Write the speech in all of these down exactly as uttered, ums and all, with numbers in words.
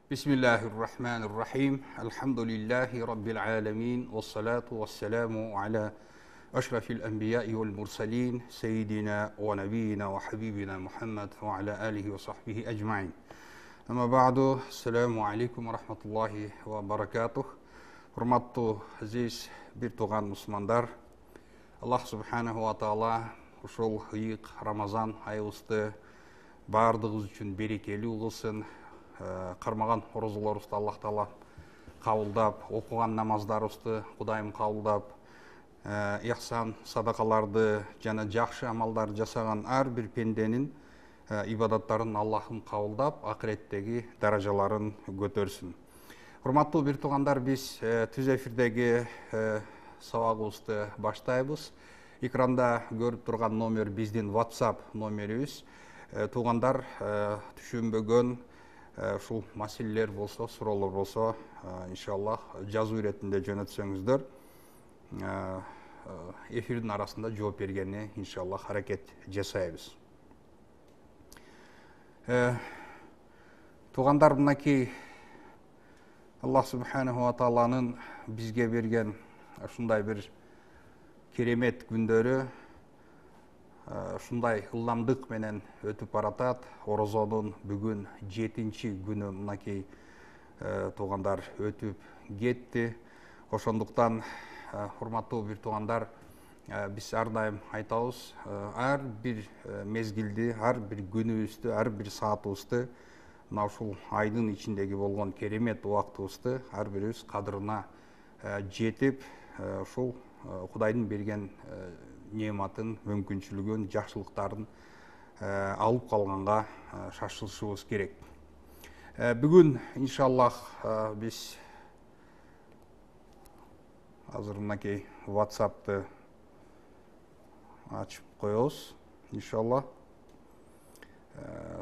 Bismillahirrahmanirrahim. Elhamdülillahi Rabbil alemin. Ve salatu ve selamu ala eşrefil enbiya'i vel mursalin. Seyyidina ve nebiyyina ve habibina Muhammed ve ala alihi ve sahbihi ecmain. Ama ba'du. Selamu aleykum ve rahmetullahi ve barakatuh. Hurmatlı aziz bir tuğan Müslümanlar. Allah subhanahu wa ta'ala uşul hıyık Ramazan ayыбызды бардыгыбыз үчүн берекелүү кылсын. Кармаган орозолорубузду Аллах Таала кабылдап, окуган намаздарыбызды Кудайым кабылдап, ыхсан садакаларды жана жакшы амалдар жасаган ар бир пенденин ибадаттарын Аллахым кабылдап, акыреттеги даражаларын көтөрсүн. Урматтуу бир туугандар, биз түз эфирдеги сабагыбызды баштайбыз. Экранда көрүп турган номер биздин WhatsApp номерибиз. Туугандар түшүнбөгөн ушул маселелер болсо, суроолор болсо, иншаллах жазуу иретинде жөнөтсөңүздөр, эфирдин арасында жооп бергенге иншаллах аракет жасайбыз. Туугандар, мынакей Аллах субханаху ва тааланын бизге берген ушундай бир керемет күндөрү ушундай ылдамдык менен өтүп баратат. Орозонун бүгүн жетинчи күнү мынакей туугандар өтүп кетти. Ошондуктан урматтуу бир туугандар, биз ар дайым айтабыз, ар бир мезгилди, ар бир күнүбүздү, ар бир саатыбызды, мына ушул айдын ичиндеги болгон керемет убактыбызды ар бирибиз кадырына жетип, ушул Кудайдын берген нематын, мүмкүнчүлүгүн, жакшылыктарын алып калганга шашылышыбыз керек. Бүгүн иншаллах биз азыр мынакей WhatsApp'ты ачып коебуз. Иншаллах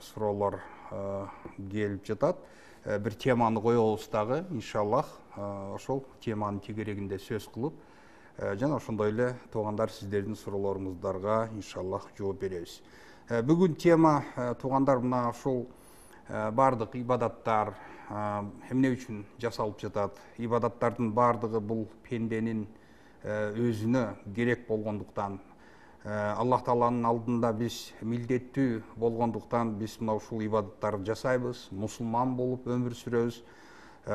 суроолор келип жатат. Бир теманы коебуз дагы, иншаллах ошол теманын тегерегинде сөз кылып, жана ошондой эле туугандар, сиздердин суроолоруңуздарга иншаллах жооп беребиз. Бүгүн тема туугандар, мына ушул бардык ибадаттар эмне үчүн жасалып жатат? Ибадаттардын бардыгы бул пенденин өзүнө керек болгондуктан, Аллах Тааланын алдында биз милдеттүү болгондуктан биз мына ушул ибадаттарды жасайбыз. Мусулман болуп өмүр сүрөбүз.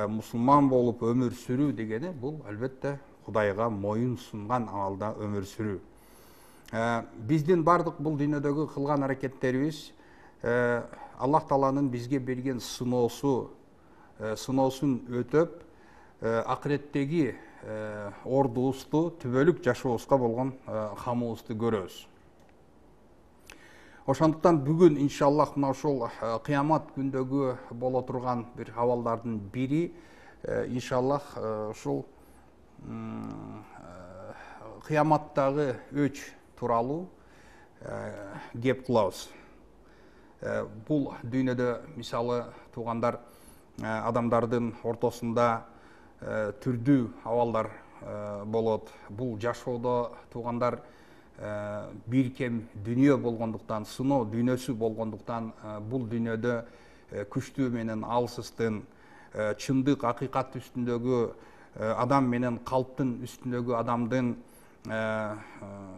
Мусулман болуп өмүр сүрүү дегени бул албетте Кудайга моюн сунган абалда өмүр сүрүү. Биздин бардык бул дүйнөдөгү кылган аракеттерибиз Аллах Тааланын бизге берген сыноосу, сыноосун өтөп, акыреттеги ордубузду, түбөлүк жашообузга болгон камыбызды көрөбүз. Ошондуктан бүгүн иншаллах мына ушул кыямат күндөгү боло турган бир абалдардын бири, иншаллах ушул кыяматтагы өч тууралуу кеп кылабыз. Бул дүйнөдө мисалы туугандар, адамдардын ортосунда түрдүү абалдар болот. Бул жашоодо туугандар бир кем дүйнө болгондуктан, сыноо дүйнөсү болгондуктан, бул дүйнөдө күчтүү менен алсыздын, чындык, акыйкат үстүндөгү адам менен калптын үстүндөгү адамдын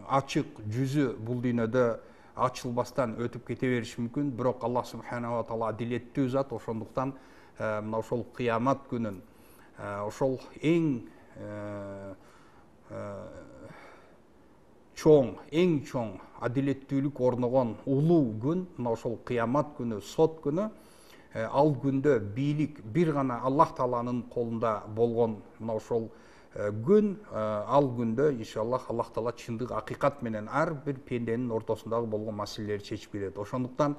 ачык жүзү бул дүйнөдө ачылбастан өтүп кете бериши мүмкүн. Бирок Аллах субханаху ва таала адилеттүү зат. Ошондуктан мына ошол кыямат күнүн, ошол эң чоң, эң чоң адилеттүүлүк орногон улуу күн, мына ошол кыямат күнү, сот күнү, ал күндө бийлик бир гана Аллах Тааланын колунда болгон мына ошол күн, ал күндө иншаллах Аллах Таала чындык, акыйкат менен ар бир пенденин ортосундагы болгон маселелерди чечип берет. Ошондуктан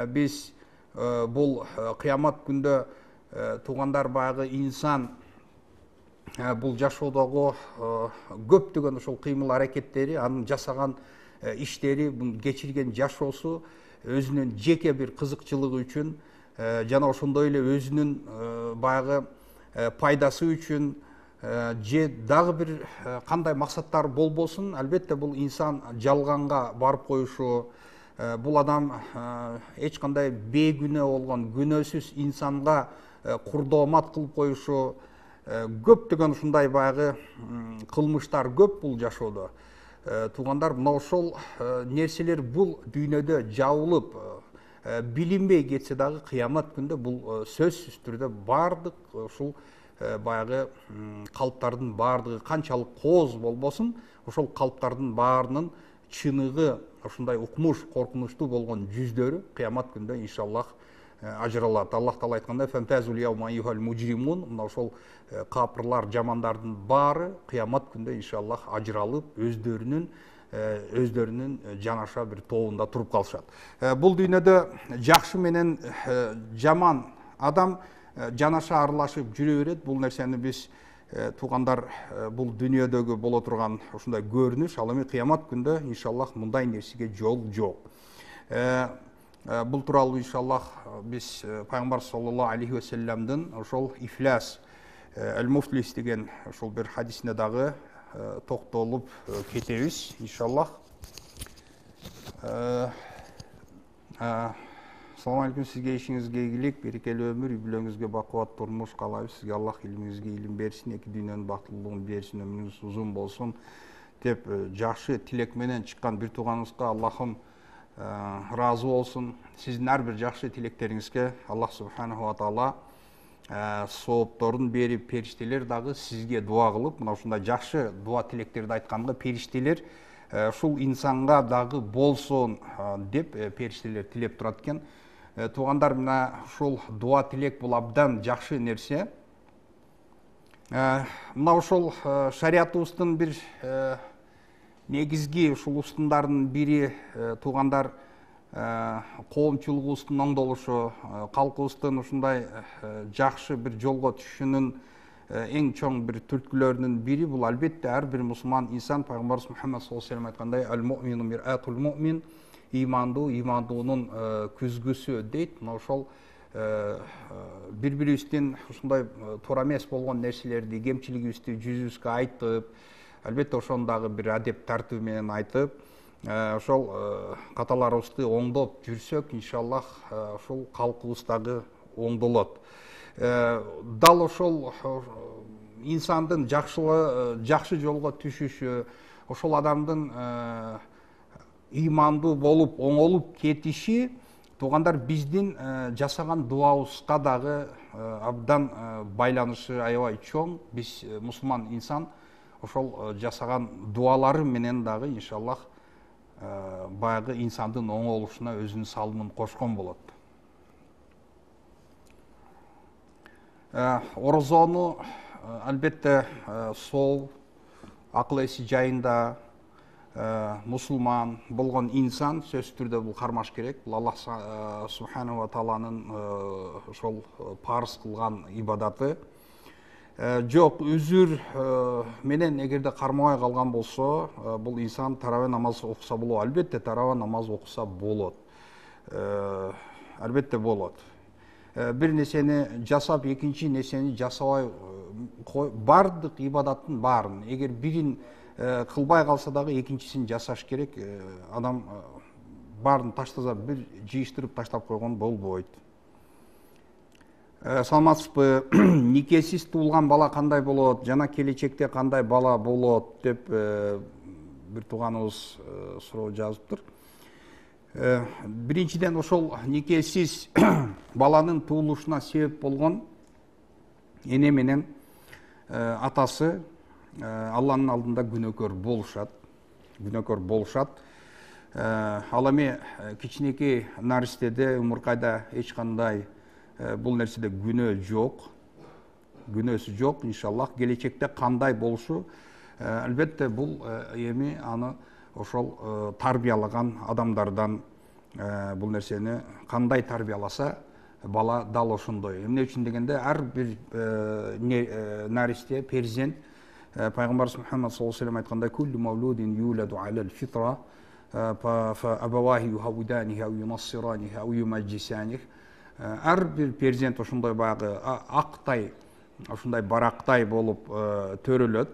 биз бул кыямат күндө туугандар, баягы инсан бул жашоодогу көптөгөн ошол кыймыл аракеттери, анын жасаган иштери, кечирген жашоосу өзүнүн жеке бир кызыкчылыгы үчүн жана ошондой эле өзүнүн баягы пайдасы үчүн же дагы бир кандай максаттар болбосун, албетте бул инсан жалганга барып коюшу, бул адам эч кандай бейгүнөө болгон күнөөсүз инсанга курдоомат кылып коюшу, көптөгөн ушундай баягы кылмыштар көп бул жашоодо. Туугандар, мына ошол нерселер бул дүйнөдө жабылып билинбей кетсе дагы кыямат күндө бул сөзсүз түрдө бардык ушул баягы калптардын бардыгы канчалык кооз болбосун, ошол калптардын баарынын чыныгы ушундай укмуш, коркунучтуу болгон жүздөрү кыямат күндө иншаллах ажыралат. Аллах Таала айткандай: "Фантазул яума айюхал мужримун", мына ошол капырлар, жамандардын баары кыямат күндө иншаллах ажыралып, өздөрүнүн өздөрүнүн жанаша бир тобунда туруп калышат. Бул дүйнөдө жакшы менен жаман адам жанаша аралашып жүрө берет. Бул нерсени биз туугандар бул дүйнөдөгү боло турган ушундай көрүнүш, ал эми кыямат күндө иншаллах мындай нерсеге жол жок. Бул тууралуу иншаллах биз пайгамбар саллаллаху алейхи ва салламдын ошол ифляс ал-муфлис деген ошол бир хадисине дагы токтолуп кетебиз иншаллах. Assalamu alaikum, sizge işinizge iyilik, berекелі ömür, үй бүлөңүзгө бакубат турмуш каалайбыз. Сизге Аллах илимиңизге илим берсин, эки дүйнөнүн бактылуулугун берсин, өмүрүңүз узун болсун деп жакшы тилек менен чыккан бир тууганыбызга Аллахым разы болсун. Сиздин ар бир жакшы тилектериңизге Аллах субханаху ва таала соопторун берип, периштелер дагы сизге дуа кылып, мына ушундай жакшы дуа тилектерди айтканга периштелер ушул инсанга дагы болсун деп периштелер тилеп турат экен. Туугандар, мына ушул дуа тилек бул абдан жакшы нерсе. Мына ошол шариятыбыздын бир негизги ушул устундарынын бири туугандар коомчулугубуздун оңдолушу, калкыбыздын ушундай жакшы бир жолго түшүшүнүн эң чоң бир түрткүлөрүнүн бири бул албетте ар бир мусулман инсан пайгамбарыбыз Мухаммад саллаллаху алейхи ва саллям айткандай: "Ал-муъмину мир'атул муъмин", имандуу имандуунун күзгүсү дейт. Мына ошол бири-бирибиздин ушундай туура эмес болгон нерселерди, кемчилигибизди жүзүбүзгө айтып, албетте ошону дагы бир адеп тартуу менен айтып, ошол каталарыбызды оңдоп жүрсөк, иншаллах ошол калкыбыз дагы оңдолот. Дал ошол инсандын жакшы жолго түшүшү, ошол адамдын ыймандуу болуп, оңолуп кетиши туугандар биздин жасаган дуабызга дагы абдан байланышы аябай чоң. Биз мусулман инсан ошол жасаган дуалары менен дагы иншаллах баягы инсандын оңолушуна өзүнүн салымын кошкон болот. Орозону албетте сол, акыл эси жайында мусулман болгон инсан сөзсүз түрдө бул кармаш керек. Бул Аллах субханаху ва тааланын ошол парыз кылган ибадаты. Жок, үзүр менен эгерде кармабай калган болсо, бул инсан таравih намаз окуса болот. Албетте таравih намаз окуса болот. Албетте болот. Бир нерсени жасап, экинчи нерсени жасабай кой, бардык ибадаттын баарын, эгер бирин кылбай калса дагы экинчисин жасаш керек. Адам баарын таштаса бир жыйыштырып таштап койгон болбойт. Саламатсызбы? Никесиз туулган бала кандай болот, жана келечекте кандай бала болот деп бир тууганыбыз суроо жазыптыр. Биринчиден, ошол никесиз баланын туулушуна себеп болгон эне менен атасы Алланын алдында күнөөкөр болушат. Күнөөкөр болушат. Ал эми кичинекей наристеде, умуркайда эч кандай бул нерседе күнөө жок. Күнөөсү жок, иншаллах. Келечекте кандай болушу, албетте бул эми аны ошол тарбиялаган адамдардан бул нерсени кандай тарбияласа, бала дал ошондой. Эмне үчүн дегенде, ар бир наристе, перзент, пайгамбарыбыз Мухаммад саллаллаху алейхи ва саллям айткандай: "Куллу мавлудин юладу алал фитра, фа абавахи юхавиданихи ау юнассиранихи ау юмаджисанихи". Ар бир перзент ошондой баягы актай, ошондой барактай болуп төрөлөт,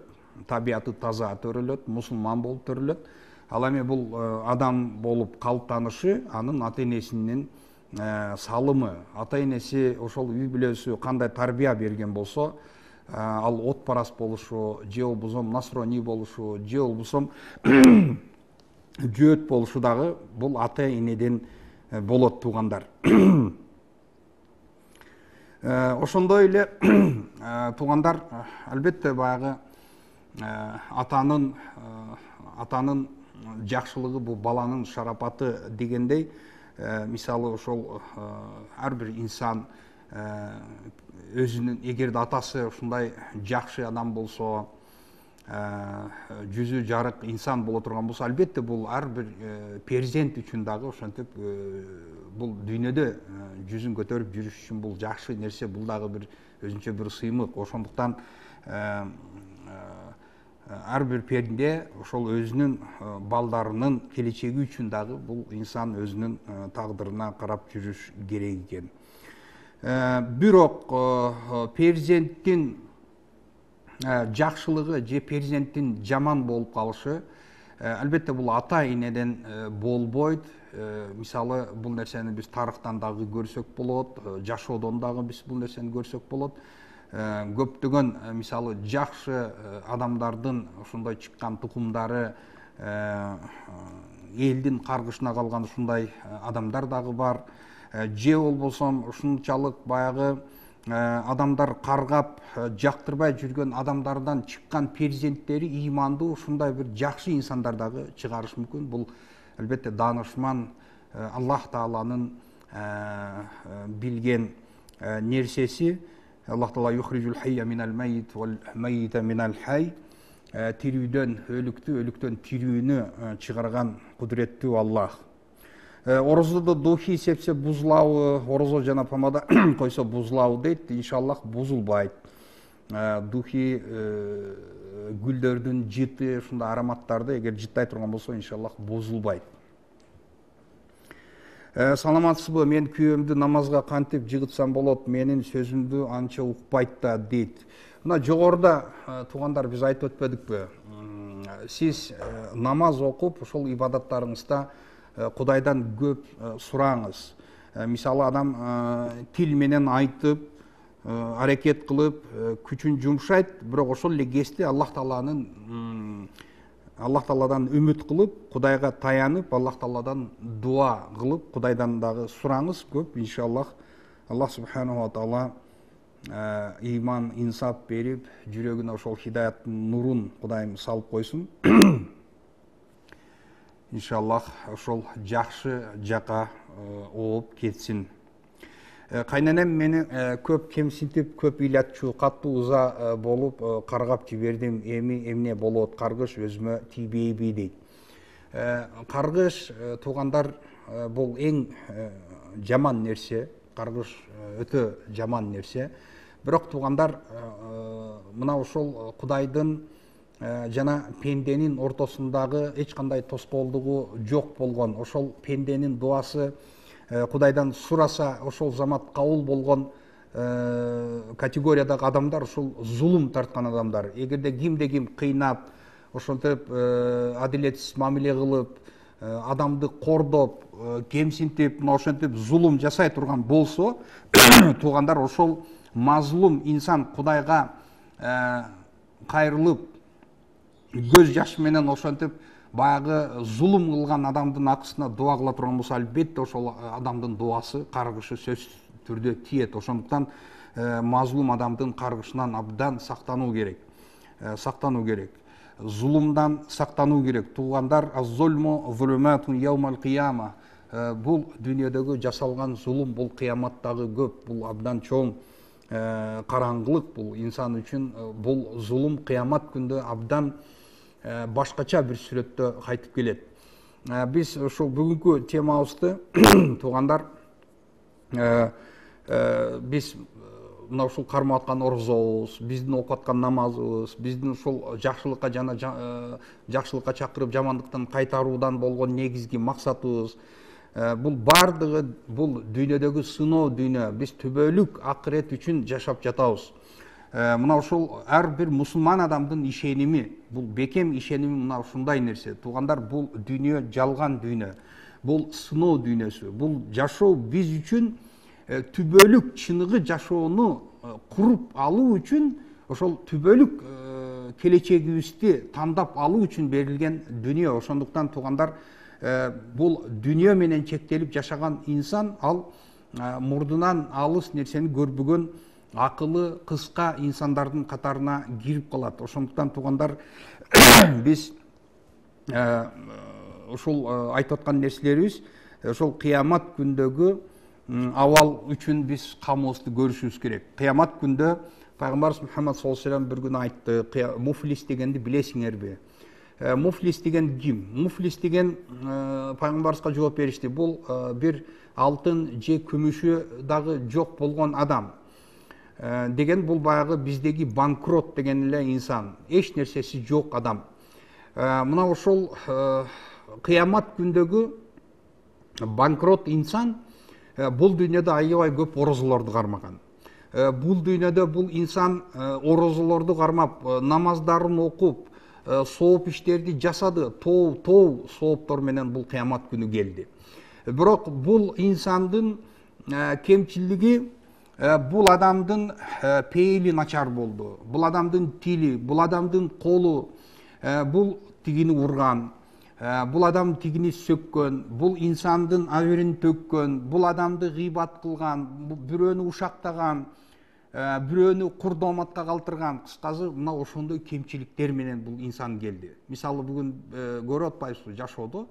табияты таза төрөлөт, мусулман болуп төрөлөт. Ал эми бул адам болуп калыптанышы анын ата энесинин салымы. Ата энеси ошол үй бүлөсү кандай тарбия берген болсо, ал отпарас болушу, же болбосо насроний болушу, же болбосо жөөт болушу дагы бул ата энеден болот, туугандар. Ошондой эле туугандар, албетте баягы атанын атанын жакшылыгы бул баланын шарапаты дегендей, мисалы ошол ар бир инсан өзүнүн, эгерде атасы ушундай жакшы адам болсо, жүзү жарык инсан боло турган болсо, албетте бул ар бир перзент үчүн дагы ошентип бул дүйнөдө жүзүн көтөрүп жүрүш үчүн бул жакшы нерсе, бул дагы бир өзүнчө бир сыймык. Ошондуктан ар бир перде ошол өзүнүн балдарынын келечеги үчүн дагы бул инсан өзүнүн тагдырына карап жүрүш керек экен. Бирок перзенттин жакшылыгы же перзенттин жаман болуп калышы албетте бул ата энеден болбойт. Мисалы бул нерсени биз тарыхтан дагы көрсөк болот, жашоодон дагы биз бул нерсени көрсөк болот. Көптөгөн мисалы жакшы адамдардын ошондой чыккан тукумдары элдин каргышына калган ушундай адамдар дагы бар. Же болбосо ушунчалык баягы адамдар каргап жактырбай жүргөн адамдардан чыккан перзенттери ыймандуу ушундай бир жакшы инсандар дагы чыгарышы мүмкүн. Бул албетте даанышман Аллах Тааланын билген нерсеси. Аллах Таала юхриджул хайя минал майит вал майита минал хай. Тирүүдөн өлүктү, өлүктөн тирүүнү чыгарган кудуреттүү Аллах. Орозодо духи сепсе бузулабы, орозо жана помада койсо бузулабы дейт. Иншаллах бузулбайт. Духи гүлдөрдүн жыты, ушундай ароматтарды эгер жыттай турган болсо, иншаллах бузулбайт. Саламатсызбы, мен күйөөмдү намазга кантип жыгытсам болот, менин сөзүмдү анча укпайт да дейт. Мына жогоруда туугандар биз айтып өтпөдүкпү? Сиз намаз окуп, ошол ибадаттарыңызда Кудайдан көп сураңыз. Мисалы адам тил менен айтып, аракет кылып, күчүн жумшайт, бирок ошол эле кезде Аллах Тааланын Аллах Тааладан үмүт кылып, Кудайга таянып, Аллах Тааладан дуа кылып, Кудайдан дагы сураңыз көп, иншаллах. Аллах Субханаху ва Таала иман, инсап берип, жүрөгүнө ошол хидаяттын нурун Кудайым салып койсун. Иншаллах ошол жакшы жака ооп кетсин. Кайненем мени көп кемсинтип, көп ыйлатчу, катуу ыза болуп каргап жибердим. Эми эмне болот? Каргыш өзүмө тийбейби дейт. Каргыш, туугандар, бул эң жаман нерсе. Каргыш өтө жаман нерсе. Бирок туугандар, мына ошол Кудайдын жана пенденин ортосундагы эч кандай тоскоолдугу жок болгон, ошол пенденин дуасы Кудайдан сураса, ошол замат кабыл болгон категориядагы адамдар ушул зулум тарткан адамдар. Эгерде кимде ким кыйнап, ошентип адилетсиз мамиле кылып, адамды кордоп, кемсинтип, мына ошентип зулум жасай турган болсо, туугандар, ошол мазлум инсан Кудайга кайрылып, көз жаш менен ошентип баягы зулум кылган адамдын акысына дуа кыла турган болсо, албетте ошол адамдын дуасы, каргышы сөзсүз түрдө тиет. Ошондуктан мазлум адамдын каргышынан абдан сактануу керек. Сактануу керек. Зулумдан сактануу керек. Туугандар, аз-зульму зулуматун яумал кыяма. Бул дүйнөдөгү жасалган зулум, бул кыяматтагы көп, бул абдан чоң караңгылык, бул инсан үчүн. Бул зулум кыямат күндө абдан башкача бир сүрөттө кайтып келет. Биз ошол бүгүнкү темабызды туугандар, биз мына ушул кармап аткан орозобуз, биздин окуп аткан намазыбыз, биздин ушул жакшылыкка жана жакшылыкка чакырып жамандыктан кайтаруудан болгон негизги максатыбыз, бул бардыгы бул дүйнөдөгү сыноо дүйнө. Биз түбөлүк акырет үчүн жашап жатабыз. мына ушул ар бир мусулман адамдын ишеними, бул бекем ишеними мына ушундай нерсе. Туугандар, бул дүйнө жалган дүйнө. Бул сыноо дүйнөсү. Бул жашоо биз үчүн түбөлүк чыныгы жашоону куруп алуу үчүн, ошол түбөлүк келечегибизди тандап алуу үчүн берилген дүйнө. Ошондуктан туугандар, бул дүйнө менен чектелип жашаган инсан ал мурдунан алыс нерсени көрбөгөн акылы кыска инсандардын катарына кирип калат. Ошондуктан туугандар, биз ушул айтып аткан нерселерибиз ошол кыямат күндөгү абал үчүн биз камыбызды көрүшүбүз керек. Кыямат күндө пайгамбарыбыз Мухаммад саллаллаху алейхи ва саллям бир күнү айтты, муфлис дегенди билесиңерби? Муфлис деген ким? Муфлис деген пайгамбарыбызга жооп беришти. Бул бир алтын же күмүшү дагы жок болгон адам. Деген бул баягы биздеги банкрот деген эле инсан, эч нерсеси жок адам. Мына ошол кыямат күндөгү банкрот инсан бул дүйнөдө аябай көп орозолорду кармаган. Бул дүйнөдө бул инсан орозолорду кармап, намаздарын окуп, сооп иштерди жасады, тоо тоо сооптор менен бул кыямат күнү келди. Бирок бул инсандын кемчилиги, бул адамдын пейили начар болду. Бул адамдын тили, бул адамдын колу, бул тигини урган, бул адам тигини сөккөн, бул инсандын абирин төккөн, бул адамды гыйбат кылган, бирөөнү ушактаган, бирөөнү курдоматка калтырган. Кыскасы, мына ошондой кемчиликтер менен бул инсан келди. Мисалы, бүгүн көрүп атпайсызбы, жашоодо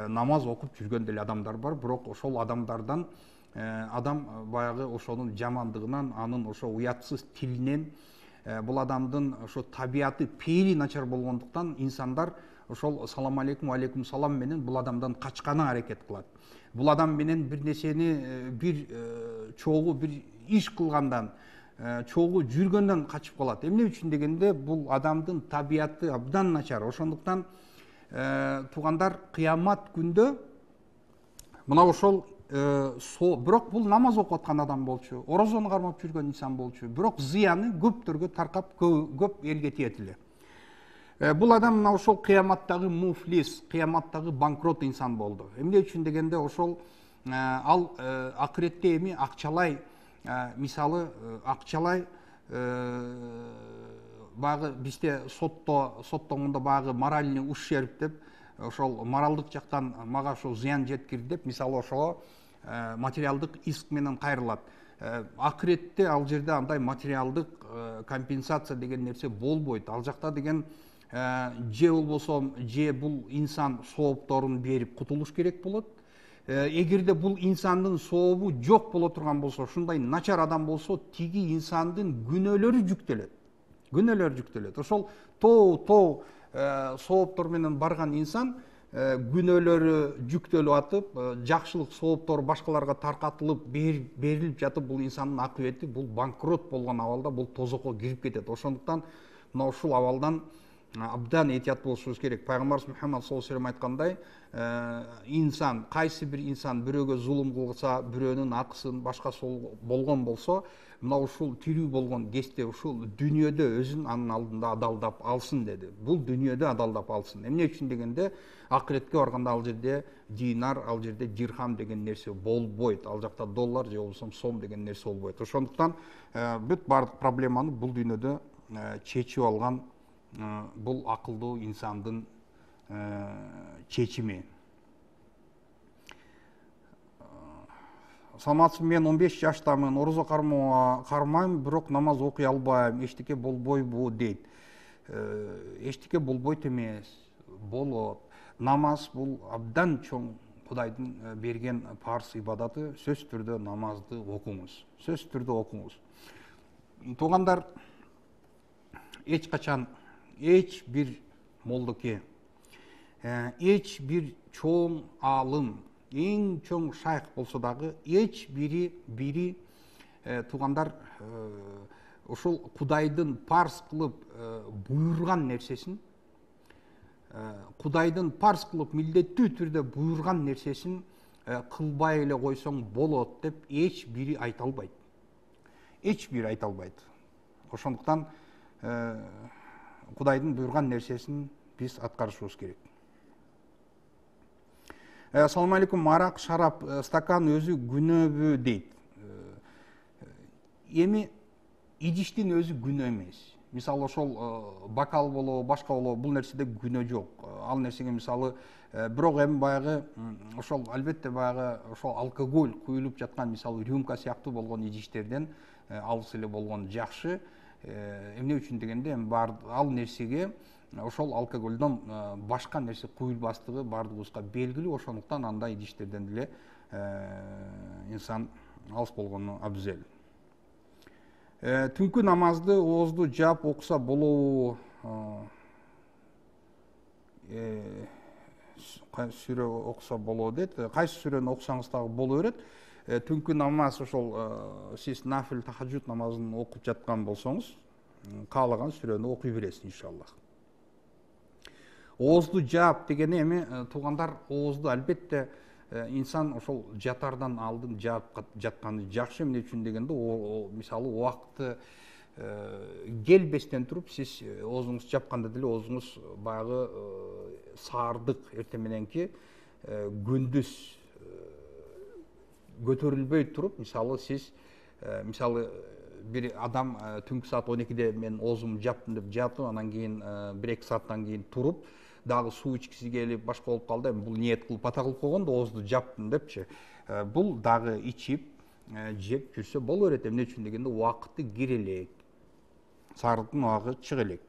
намаз окуп жүргөн деле адамдар бар, бирок ошол адамдардан адам баягы ошонун жамандыгынан, анын ошо уятсыз тилинен, бул адамдын ошо табияты, пейили начар болгондуктан инсандар ошол салам алейкум, алейкум салам менен бул адамдан качканы аракет кылат. Бул адам менен бир нерсени, бир чогуу бир иш кылгандан, чогуу жүргөндөн качып калат. Эмне үчүн дегенде, бул адамдын табияты абдан начар. Ошондуктан туугандар, кыямат күндө мына ошол бирок бул намаз окуп аткан адам болчу, орозону кармап жүргөн инсан болчу, бирок зыяны көптөргө таркап, көп элге тиет эле. Бул адам мына ошол кыяматтагы муфлис, кыяматтагы банкрот инсан болду. Эмне үчүн дегенде, ошол ал акыретте эми акчалай, мисалы акчалай баягы бизде сотто соттогондо баягы моральный ущерб деп, ошол моралдык жактан мага ошол зыян жеткирди деп, мисалы ошого материалдык иск менен кайрылат. Акыретте ал жерде андай материалдык компенсация деген нерсе болбойт. Ал жакта деген же болбосо же бул инсан соопторун берип кутулуш керек болот. Эгерде бул инсандын сообу жок боло турган болсо, ушундай начар адам болсо, тиги инсандын күнөөлөрү жүктөлөт. Күнөөлөр жүктөлөт. Ошол тоо тоо сооптор менен барган инсан күнөөлөрү жүктөлүп атып, жакшылык сооптор башкаларга таркатылып берилип жатып, бул инсандын акыбети, бул банкрот болгон абалда бул тозокко кирип кетет. Ошондуктан мына ушул абалдан абдан этият болушубуз керек. Пайгамбарыбыз Мухаммад саллаллаху алейхи ва саллям айткандай, инсан, кайсы бир инсан бирөөгө зулум кылса, бирөөнүн акысын башкасы болгон болсо, мына ушул тирүү болгон кезде ушул дүйнөдө өзүн анын алдында адалдап алсын деди. Бул дүйнөдө адалдап алсын. Эмне үчүн дегенде, акыретке барганда ал жерде динар, ал жерде дирхам деген нерсе болбойт. Ал жакта доллар же болбосо сом деген нерсе болбойт. Ошондуктан бүт бардык проблеманы бул дүйнөдө чечип алган бул акылдуу инсандын чечими. Саламатсызбы, мен он беш жаштамын, орозо кармайм, бирок намаз окуй албайм, эчтеке болбойбу дейт. Эчтеке болбойт эмес, болот. Намаз бул абдан чоң Кудайдын берген парз ибадаты. Сөзсүз түрдө намазды окуңуз. Сөзсүз түрдө окуңуз. Туугандар, эч качан эч бир молдоке, эч бир чоң алым, эң чоң шайх болсо дагы, эч бири бири туугандар ошол Кудайдын парз кылып буйрган нерсесин, Кудайдын парз кылып милдеттүү түрдө буйрган нерсесин кылбай эле койсоң болот деп эч бири айта албайт. Эч бири айта албайт. Ошондуктан Кудайдын буйрган нерсесин биз аткарышыбыз керек. Ассаламу алейкум. Арак, шарап, стакан өзү күнөөбү дейт. Эми идиштин өзү күнөө эмес. Мисалы ошол бокал болобу, башка болобу, бул нерседе күнөө жок. Ал нерсеге мисалы бирок эми баягы ошол албетте баягы ошол алкоголь куюлуп жаткан мисалы рюмка сыяктуу болгон идиштерден алыс эле болгон жакшы. Эмне үчүн дегенде эми бар ал нерсеге ошол алкоголдон башка нерсе куюлбастыгы бардыгыбызга белгилүү. Ошондуктан андай идиштерден деле инсан алыс болгону абзел. Түнкү намазды оозду жаап окуса болобу? Сүрө окуса болобу дейт. Кайсы сүрөнү окусаңыз дагы боло берет. Түнкү намаз ошол сиз нафил тахажжуд намазын окуп жаткан болсоңуз, каалаган сүрөнү окуй бересиз иншаллах. Оозду жаап дегени эми туугандар, оозду албетте инсан ошол жатардан алдын жаап жатканы жакшы. Эмне үчүн дегенде мисалы убакыты келбестен туруп сиз оозуңузду жапканда деле оозуңуз баягы саардык эртең мененки күндүз көтөрүлбөй туруп, мисалы сиз мисалы бир адам түнкү саат он экиде мен оозумду жаптым деп жатып, анан кийин бир эки сааттан кийин туруп дагы суу ичкиси келип башка болуп калды, эми бул ниет кылып ата кылып койгон да оозду жаптым депчи. Бул дагы ичип жеп жүрсө боло берет. Эмне үчүн дегенде убакыты кире элек, саардыктын убагы чыга элек.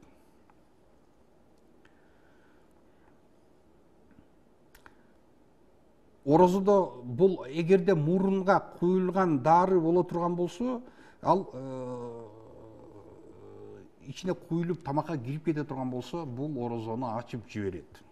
Орозодо бул эгерде мурунга куюлган дары боло турган болсо, ал ичине куюлуп тамакка кирип кете турган болсо, бул орозону ачып жиберет.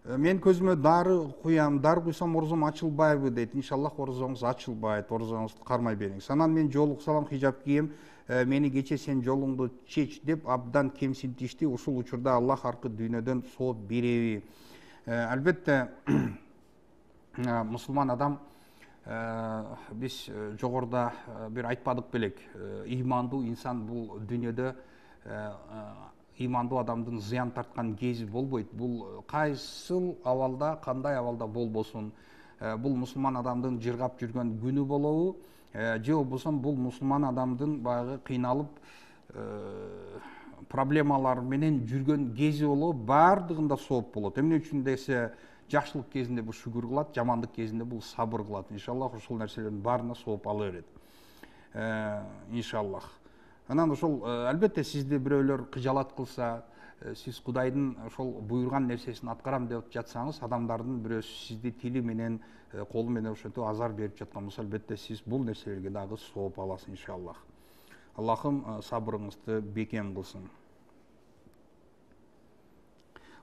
Мен көзүмө дары куям, дары куйсам орозом ачылбайбы дейт. Иншаллах орозоңуз ачылбайт, орозоңузду кармай бериңиз. Анан мен жолуксалам, хижап кийем, мени кече сен жолуңду чеч деп абдан кемсинтишти. Ушул учурда Аллах аркы дүйнөдөн сооп береби? Албетте мусулман адам, биз жогоруда бир айтпадык белек, ыймандуу инсан бул дүйнөдө ыймандуу адамдын зыян тарткан кези болбойт. Бул кайсыл абалда, кандай абалда болбосун, бул мусулман адамдын жыргап жүргөн күнү болобу, же болбосо бул мусулман адамдын баягы кыйналып проблемалар менен жүргөн кези болобу, баардыгында сооп болот. Эмне үчүн десе, жакшылык кезинде бул шүгүр кылат, жамандык кезинде бул сабыр кылат. Иншаллах ушул нерселердин баарына сооп ала берет. Иншаллах. Анан ошол албетте сизди бирөөлөр кыжалат кылса, сиз Кудайдын ошол буйрган нерсесин аткарам деп жатсаңыз, адамдардын бирөөсү сизди тили менен, колу менен ошентип азар берип жаткан болсо, албетте сиз бул нерселерге дагы сооп аласыз иншаллах. Аллахым сабырыңызды бекем кылсын.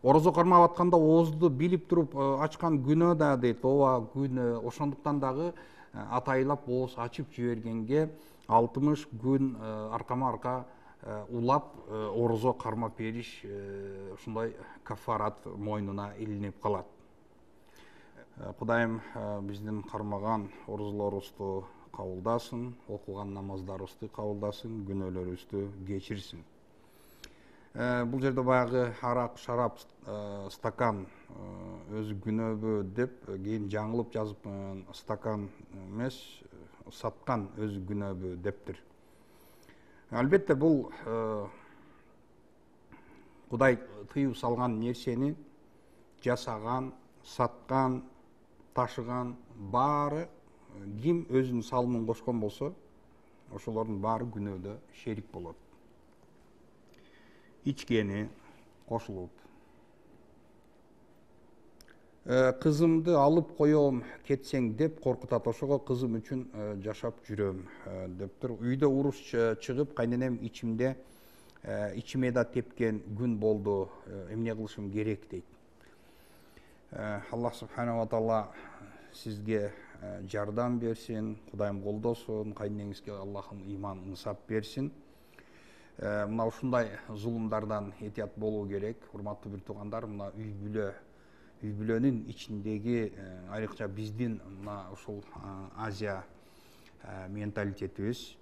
Орозо кармап атканда оозду билип туруп ачкан күнөө да дейт. Ооба, күнөө. Ошондуктан дагы атайлап ооз ачып жибергенге алтымыш күн аркама арка улап орозо кармап бериш ушундай кафарат мойнуна илинип калат. Кудайым биздин кармаган орозолорубузду кабылдасын, окуган намаздарыбызды кабылдасын, күнөөлөрүбүздү кечирсин. Бул жерде баягы арак, шарап, стакан өзү күнөөбү деп кийин жаңылып жазыпмын. Стакан эмес, саткан өзү күнөөбү дептир. Албетте бул Кудай тыюу салган нерсени жасаган, саткан, ташыган баары ким өзүнүн салымын кошкон болсо, ошолордун баары күнөөдө шерик болот. Ичкени кошулуп. Кызымды алып коем кетсең деп коркутат. Ошого кызым үчүн жашап жүрөм дептир. Үйдө уруш чыгып, кайненем ичимде ичиме да тепкен күн болду. Эмне кылышым керек дейт. Аллах субхана ва таала сизге жардам берсин, Кудайым колдосун, кайненеңизге Аллахым иман, ынсап берсин. Мына ушундай зулумдардан этият болуу керек. Урматтуу бир туугандар, мына үй бүлө үй бүлөнүн ичиндеги айрыкча биздин мына ушул Азия менталитетибиз,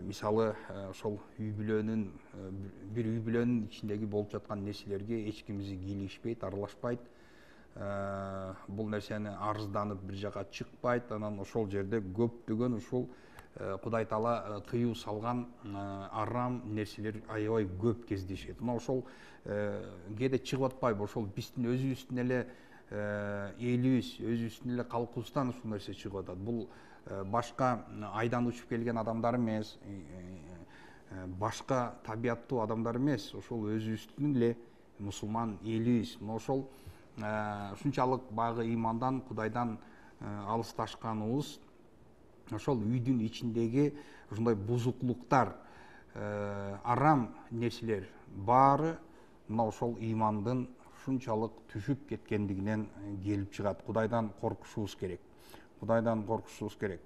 мисалы ошол үй бүлөнүн бир үй бүлөнүн ичиндеги болуп жаткан нерселерге эч кимизи кийлигишпейт, аралашпайт. Бул нерсени арызданып бир жака чыкпайт. Анан ошол жерде көптөгөн ушул Кудай Таала тыюу салган арам нерселер аябай көп кездешет. Мына ошол кээде чыгып атпайбы? Ошол биздин өзүбүздүн эле элибиз, өзүбүздүн эле калкыбыздан ушул нерсе чыгып атат. Бул башка айдан учуп келген адамдар эмес, башка табияттуу адамдар эмес, ошол өзүбүздүн эле мусулман элибиз. Мына ошол ушунчалык баягы имандан, Кудайдан алысташканыбыз, ошол үйдүн ичиндеги ушундай бузуклуктар, арам нерселер баары мына ошол имандын ушунчалык түшүп кеткендигинен келип чыгат. Кудайдан коркушубуз керек. Кудайдан коркушубуз керек.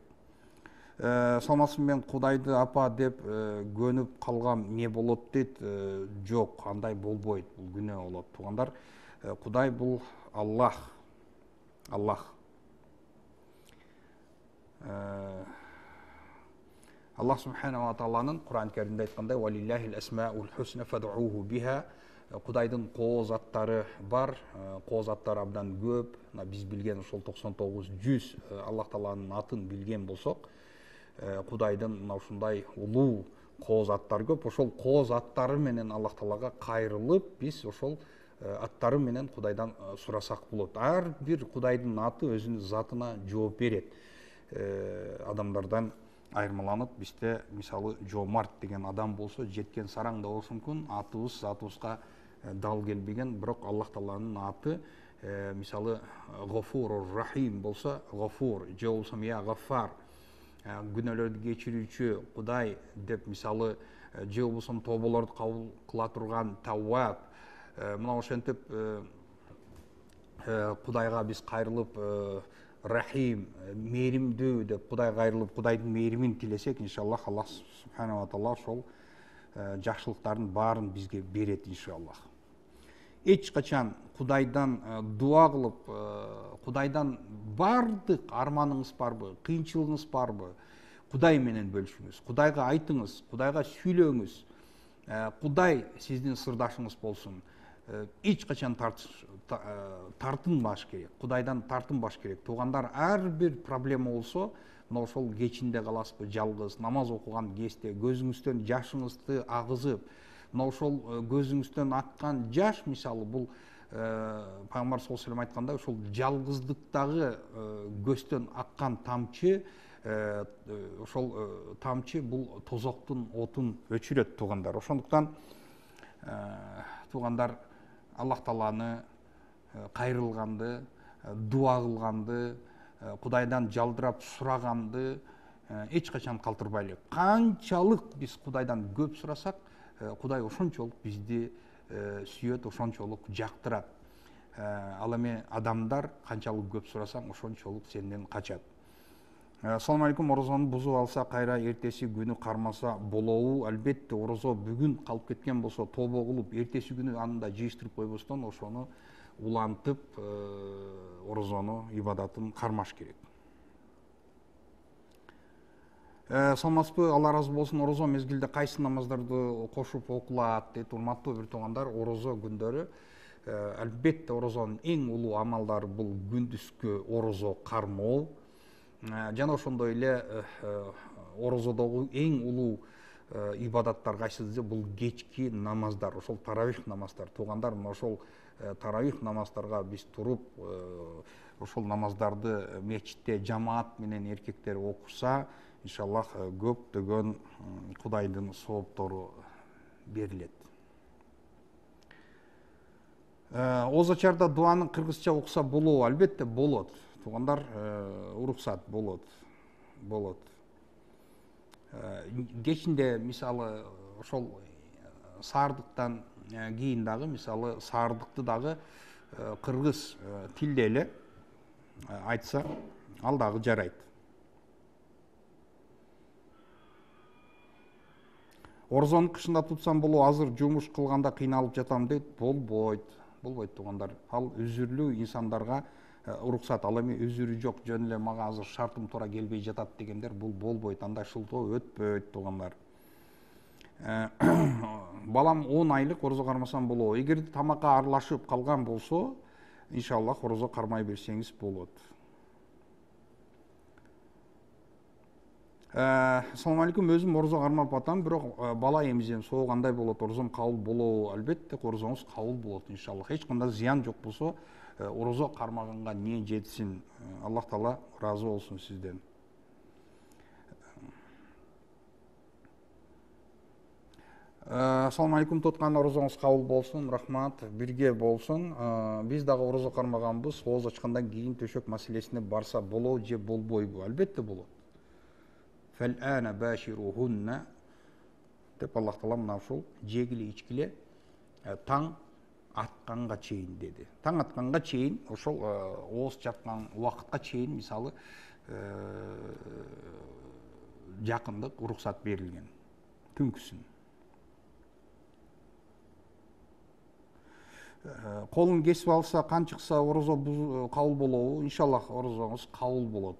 Салмасым мен Кудайды апа деп көнүп калгам, не болот дейт? Жок, андай болбойт. Бул күнөө болот. Туугандар, Кудай бул Аллах. Аллах. Аллах субханаху ва тааланын Кур'ан Каримде айткандай: "Валиллахил асмаул хусна фад'уху биха". Кудайдын кооз аттары бар, кооз аттары абдан көп. Биз билген ошол токсон тогуз жүз Аллах Тааланын атын билген болсок, Кудайдын мына ушундай улуу кооз аттары көп. Ошол кооз аттары менен Аллах Таалага кайрылып, биз ошол аттары менен Кудайдан сурасак болот. Ар бир Кудайдын аты өзүнүн затына жооп берет. Адамдардан айырмаланып, бизде мисалы Жомарт деген адам болсо, жеткен сараң да болушу мүмкүн, атыбыз затыбызга дал келбеген, бирок Аллах Тааланын аты мисалы Гофур Рахим болсо, Гофур, же болбосо я Гаффар, күнөөлөрдү кечирүүчү Кудай деп, мисалы, же болбосо тоболорду кабыл кыла турган Тавваб. Мына ошентип Кудайга биз кайрылып, Рахим, мээримдүү деп Кудайга кайрылып, Кудайдын мээримин тилесек, иншаллах, Аллах субханаху ва таала ошол жакшылыктардын баарын бизге берет, иншаллах. Эч качан Кудайдан дуа кылып, Кудайдан бардык арманыңыз барбы, кыйынчылыгыңыз барбы, Кудай менен бөлүшүңүз, Кудайга айтыңыз, Кудайга сүйлөңүз. Кудай сиздин сырдашыңыз болсун. Эч качан тартынбаш керек, Кудайдан тартынбаш керек. Туугандар, ар бир проблема болсо, мына ошол кечинде каласызбы, жалгыз, намаз окуган кезде көзүңүздөн жашыңызды агызып, мына ошол көзүңүздөн аккан жаш, мисалы, бул Пайгамбар саллаллаху алейхи ва саллям айткандай, ошол жалгыздыктагы көздөн аккан тамчы, ошол тамчы бул тозоктун отун өчүрөт, туугандар. Ошондуктан туугандар, Аллах Тааланы кайрылганды, дуа кылганды, Кудайдан жалдырап сураганды эч качан калтырбайлы. Канчалык биз Кудайдан көп сурасак, Кудай ошончолук бизди сүйөт, ошончолук жактырат. Ал эми адамдар канчалык көп сурасаң, ошончолук сенден качат. Ассаламу алейкум. Орозону бузуп алса, кайра эртеси күнү кармаса болобу? Албетте, орозо бүгүн калып кеткен болсо, тобо кылып, эртеси күнү анда жыйыштырып койбостон, ошону улантып, орозону, ибадатын кармаш керек. Саламатсызбы? Алла ыраазы болсун. Орозо мезгилде кайсы намаздарды кошуп окулат дейт. Урматтуу бир туугандар, орозо күндөрү албетте орозонун эң улуу амалдары бул күндүзгү орозо кармоо. Жана ошондой эле орозодогу эң улуу ибадаттар кайсы десе, бул кечки намаздар, ошол таравих намаздар. Туугандар, мына ошол таравих намаздарга биз туруп, ошол намаздарды мечитте жамаат менен эркектер окуса, иншаллах, көптөгөн Кудайдын сооптору берилет. Озачарда дуаны кыргызча окуса болобу? Албетте болот. Туугандар, уруксат болот. Болот. Кечинде, мисалы, ошол саардыктан кийин дагы, мисалы, саардыкты дагы кыргыз тилде эле айтса, ал дагы жарайт. Орозону кышында тутсам болобу? Азыр жумуш кылганда кыйналып жатам дейт. Болбойт. болбойт туугандар. Ал үзүрлүү инсандарга уруксат. Ал эми үзүрү жок, жөн эле мага азыр шартым туура келбей жатат дегендер бул болбойт. Андай шылтоо өтпөйт туугандар. Балам он айлык орозо кармасам болобу? Эгер тамакка аралашып калган болсо, иншаллах орозо кармай берсеңиз болот. Ассаламу алейкум, өзүм орозо кармап атам, бирок бала эмизем, соо кандай болот? Орозом кабыл болобу? Албетте орозоңуз кабыл болот иншаллах. Эч кандай зыян жок болсо, орозо кармаганга не жетсин. Аллах Таала ыраазы болсун сизден. Ассаламу алейкум, туткан орозоңуз кабыл болсун, рахмат, бирге болсун. Биз дагы орозо кармаганбыз, ооз ачкандан кийин төшөк маселесине барса болобу же болбойбу? Албетте болот. Фәл-ана баширухунна деп Аллах Таала мына ушул жегиле ичкиле таң атканга чейин деди. Таң атканга чейин, ошол ооз чапкан убакытка чейин мисалы жакындык уруксат берилген. Түнкүсүн. Колун кесип алса, кан чыкса орозо кабыл болобу? Иншаллах орозоңуз кабыл болот.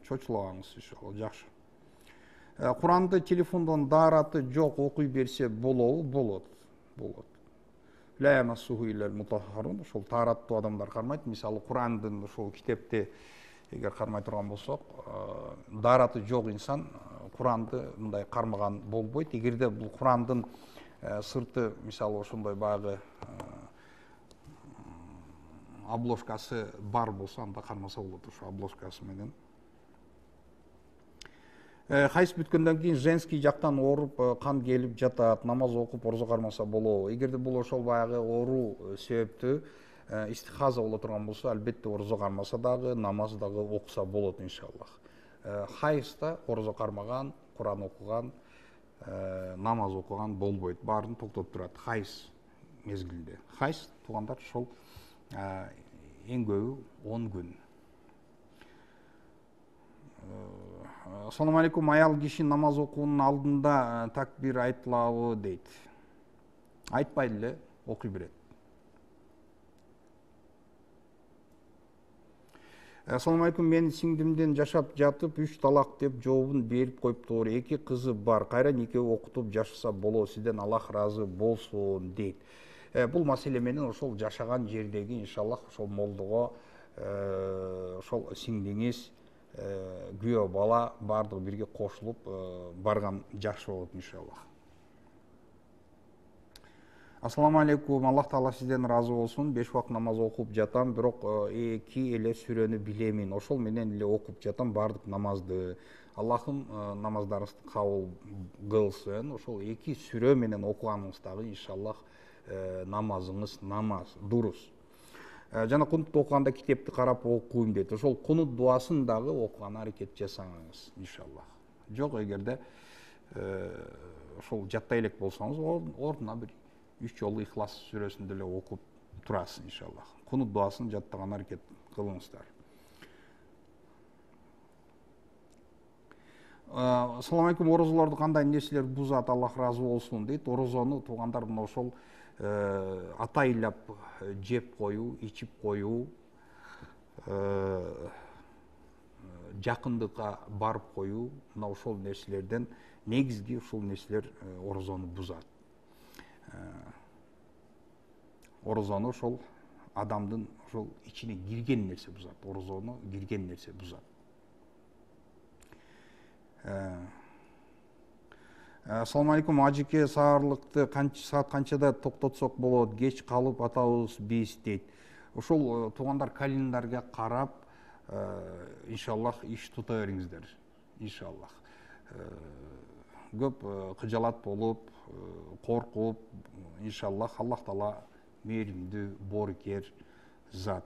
Чочулагаңыз иншалла, жакшы. Куранды телефондон даараты жок окуй берсе болобу? Болот. Болот. Ла ямассуху иллал мутаххарун. Ошол таараттуу адамдар кармайт. Мисалы Курандын ошол китепти эгер кармай турган болсок, даараты жок инсан Куранды мындай кармаган болбойт. Эгерде бул Курандын сырты мисалы ошондой баягы обложкасы бар болсо, анда кармаса болот ошо обложкасы менен. Хайс бүткөндөн кийин женский жактан ооруп, кан келип жатат, намаз окуп орозо кармаса болобу? Эгерде бул ошол баягы оору себептүү истихаза боло турган болсо, албетте орозо кармаса дагы, намаз дагы окуса болот иншаллах. Хайста орозо кармаган, Куран окуган, намаз окуган болбойт. Баарын токтотуп турат хайс мезгилинде. Хайс туугандар ошол эң көбү он күн. Ассаламу алейкум, аял киши намаз окуунун алдында такбир айтылабы дейт. Айтпайды эле, окуй берет. Ассаламу алейкум, мен сиңдимден жашап жатып үч талак деп жообун берип коюптур. Эки кызы бар. Кайра экөө окутуп жашаса болот. Сизден Аллах ыраазы болсун дейт. Бул маселе менен ошол жашаган жердеги иншаллах ошол молдого ошол сиңдиңиз күбө бала бардыгы бирге кошулуп барган жакшы болот иншаллах. Ассаламу алейкум, Аллах Таала сизден ыраазы болсун. Беш убак намаз окуп жатам, бирок эки эле сүрөнү билемин. Ошол менен эле окуп жатам бардык намазды. Аллахым намаздарыңызды кабыл кылсын. Ошол эки сүрө менен окуганыңыздагы иншаллах намазыңыз намаз дурус. Жана кунут окуганда китепти карап окуйм дейт. Ошол кунут дуасын дагы окуган аракет жасаңыз иншаллах. Жок, эгерде ошол жаттай элек болсоңуз, ордуна бир үч жолу Ихлас сүрөсүн деле окуп турасыз иншаллах. Кунут дуасын жаттаган аракет кылыңыздар. Ассаламу алейкум, орозолорду кандай нерселер бузат? Аллах ыраазы болсун дейт. Орозону туугандар мына ошол атайлап жеп коюу, ичип коюу, жакындыкка барып коюу, мына ошол нерселерден негизги ушул нерселер орозону бузат. Орозону ошол адамдын ошол ичине кирген нерсе бузат. Орозону кирген нерсе бузат. Ассаламу алейкум, ажеке, саарлыкты канча саат канчада токтотсок болот? Кеч калып атабыз биз дейт. Ошол туугандар календарга карап, иншаллах иш тута бериңиздер. Иншаллах. Көп кыжалат болуп, коркуп, иншаллах Аллах Таала мээримдүү, боорукер зат.